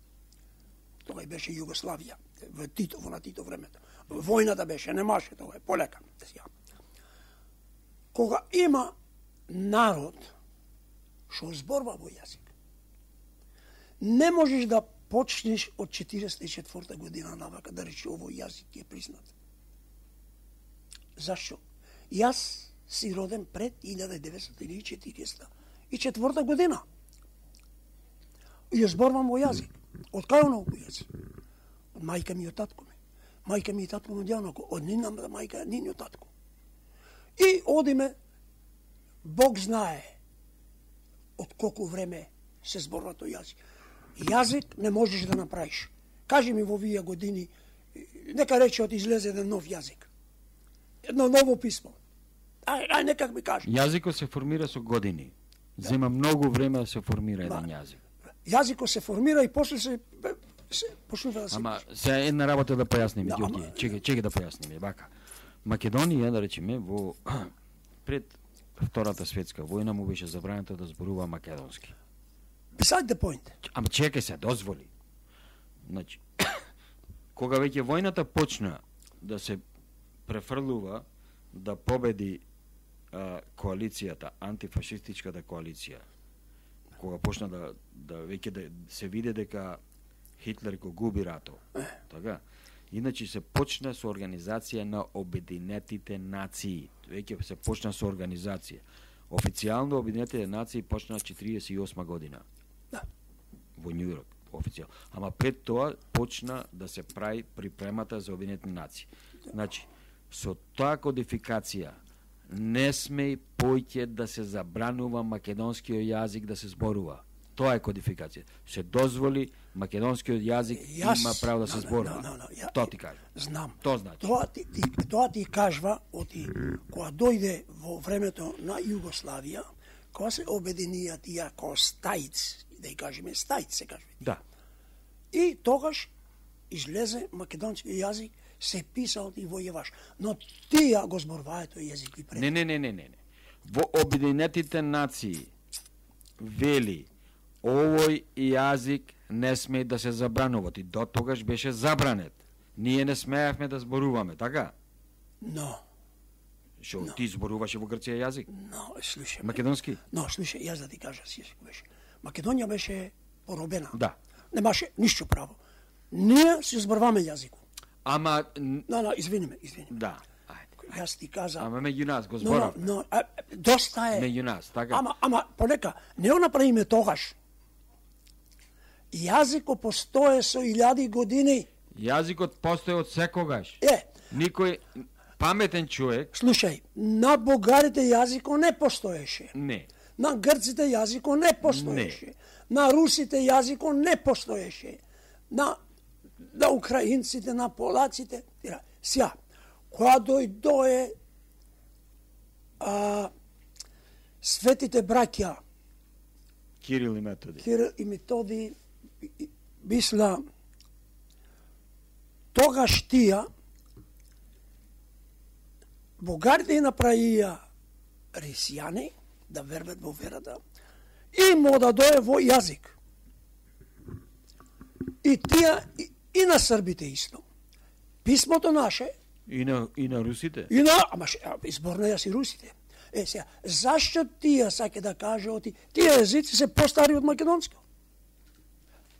Тогај беше Југославија, во Тито, во на Тито времето. Војната беше, немаше тоа, полека. Сега. Кога има народ што зборува во јазик, не можеш да почнеш од четириесет и четврта година навака да речи овој јазик е признат. Зашто? Јас си роден пред илјада деветстотини и четириесета и четврта година. И ја зборувам во јазик. Од кај оно во јазик? Од мајка ми и од татко ми. Мајка ми и татко ми одјавнако, од нина мајка, нини татко. И одиме, Бог знае од колку време се зборува тој јазик. Јазик не можеш да направиш. кажи ми во овие години, нека рече од излезе еден нов јазик. Едно ново писмо. Ај, ај некак ми кажи. Јазикот се формира со години. Зема многу време да се формира еден јазик. Јазикот се формира и после се се почнува да се Ама пише. се една работа да појасниме, Да, Ѓорѓе, ама- чекај, чекај да појасниме, вака. Македонија, да речеме, во пред Втората светска војна му беше забрането да зборува македонски. Beside the point. Ама чекај се, дозволи. Значи, кога веќе војната почна да се префрлува да победи а, коалицијата, антифашистичката коалиција, кога почна да, да веќе да се види дека Хитлер го губи ратот, така? Иначе се почна со организација на Обединетите нации. Веќе се почна со организација. Официјално Обединетите нации почна четириесет и осма година. Да. Во Њујорк, официјално. Ама пред тоа почна да се прави припремата за Обединетите нации. Значи, со таа кодификација не сме поќе да се забранува македонскиот јазик да се зборува. Тоа е кодификација. Се дозволи македонскиот јазик Јас- има право да се no, зборува. no, no, no, ја- Тоа ти кажа. Знам. Тоа значи. Тоа ти, ти, тоа ти кажва оти кога дојде во времето на Југославија, кога се обединија тие ко стајц, да ја кажеме стајц се кажува. Да. И тогаш излезе македонски јазик, се писал и војеваш. Но тие го зборуваат тој јазик и пред. Не, не, не, не, не. не. Во Обединетите нации вели овој јазик не сме да се забранува. И до тогаш беше забранет. Ние не смеевме да зборуваме, така? Но, Шо No. ти зборуваше во Грција јазик? но, слушај. Македонски? Но, слушај, јас да ти кажа си беше. Македонија беше поробена. Да. Немаше ништо право. Ние си зборуваме јазикот. Ама н- Но, но, извини ме, извини ме. да. Ајде. Јас ти кажа. Ама меѓу нас го но, зборав. но, а, доста е. Меѓу нас, така? Ама, ама, понека, не го направиме тогаш. Јазикот постоje со илјади години. Јазикот постои од секогаш. Е, Никој паметен човек слушај, на бугарите јазикот не постоеше. не. На грците јазикот не постоеше. На русите јазикот не постоеше. На, на украинците, на полаците. Сја, кога дојдое а, светите браќа, Кирил и Методи. Кирил и Методи, и- мисла, тогаш тија, бугарите направија рисјани, да вербат во верата, и му да дое во јазик. И тие, и, и на србите исто. Писмото наше, И на, и на русите. и на, ама ше, а, изборнаја си русите. Е, сега, зашто тие саке да каже оти, тие езици се постари од македонски?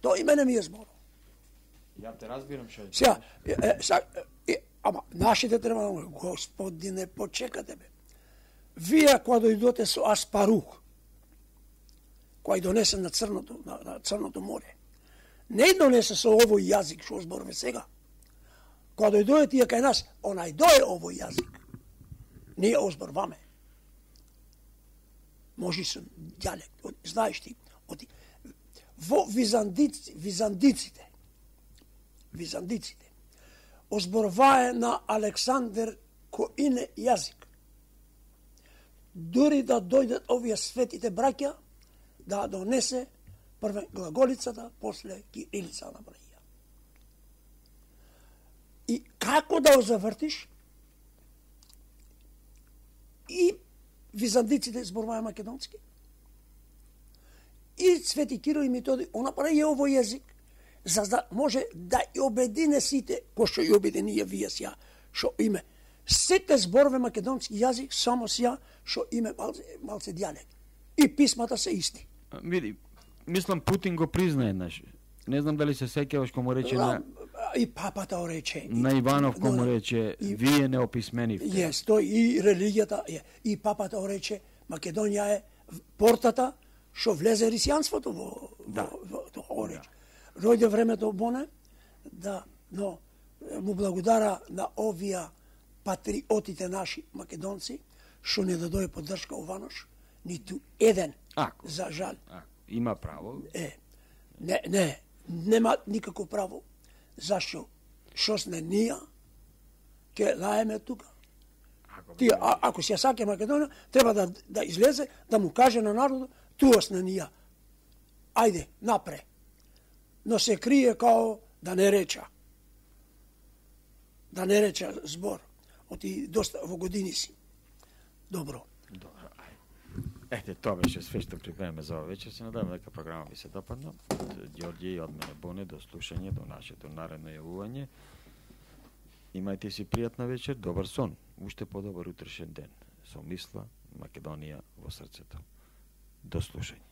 Тоа и мене ми е зборува. Ја те разбирам што. Сега, е, е, са, е, ама, нашите треба, да му, господине, почекате бе. Вие, кога дојдоте со Аспарух, кој донесе на Црното, на, на Црното море, не донесе со овој јазик, што зборуваме сега. Кога дојдојде тие кај нас, онај дое овој јазик. Ние озборваме. Може со дијалект, од- знаеш ти, оти, во визандици, визандиците, визандиците, озборвае на Александр коине јазик. Дури да дојдат овие светите браќа, да донесе прве глаголицата, после кирилица на браја. И како да го завртиш? И византиците зборуваја македонски. И Свети Кирил и Методи, он направи овој јазик, за да може да ја обедине сите, кој што ја обединија вие сја, што име. Сите зборове македонски јазик, само сја, што име малце, малце дијалект. И писмата се исти. Види, мислам Путин го призна еднаш. Не знам дали се сеќаваш кога му рече на, И папата го рече. на Иванов кога му Но, рече и- вие не описменивте. Јес, тој и религијата е. И папата го рече, Македонија е портата што влезе рисјанството во, Да. во, во тоа го рече. Дојде времето боне да, но му благодара на овие патриотите наши македонци што не дадоја поддршка Ованош, ниту еден. Ако. За жал. А, има право. Е, не, не, нема никако право зашо шо сме ние, ќе лаеме тука. Ако Тие, а, ако се саке Македонија, треба да, да излезе, да му каже на народот, туа сме ние. Ајде, напре. Но се крие као да не реча. Да не реча збор. Оти доста во години си. Добро. Добро, ај. Ете, тоа беше све што припремаме за ова вечер. Се надевам дека програма ви се допадна. Од Ѓорѓе и од мене Боне, до слушање, до нашето наредно јавување. Имајте си пријатна вечер, добар сон, уште подобар утрешен ден. Со мисла, Македонија во срцето. До слушање.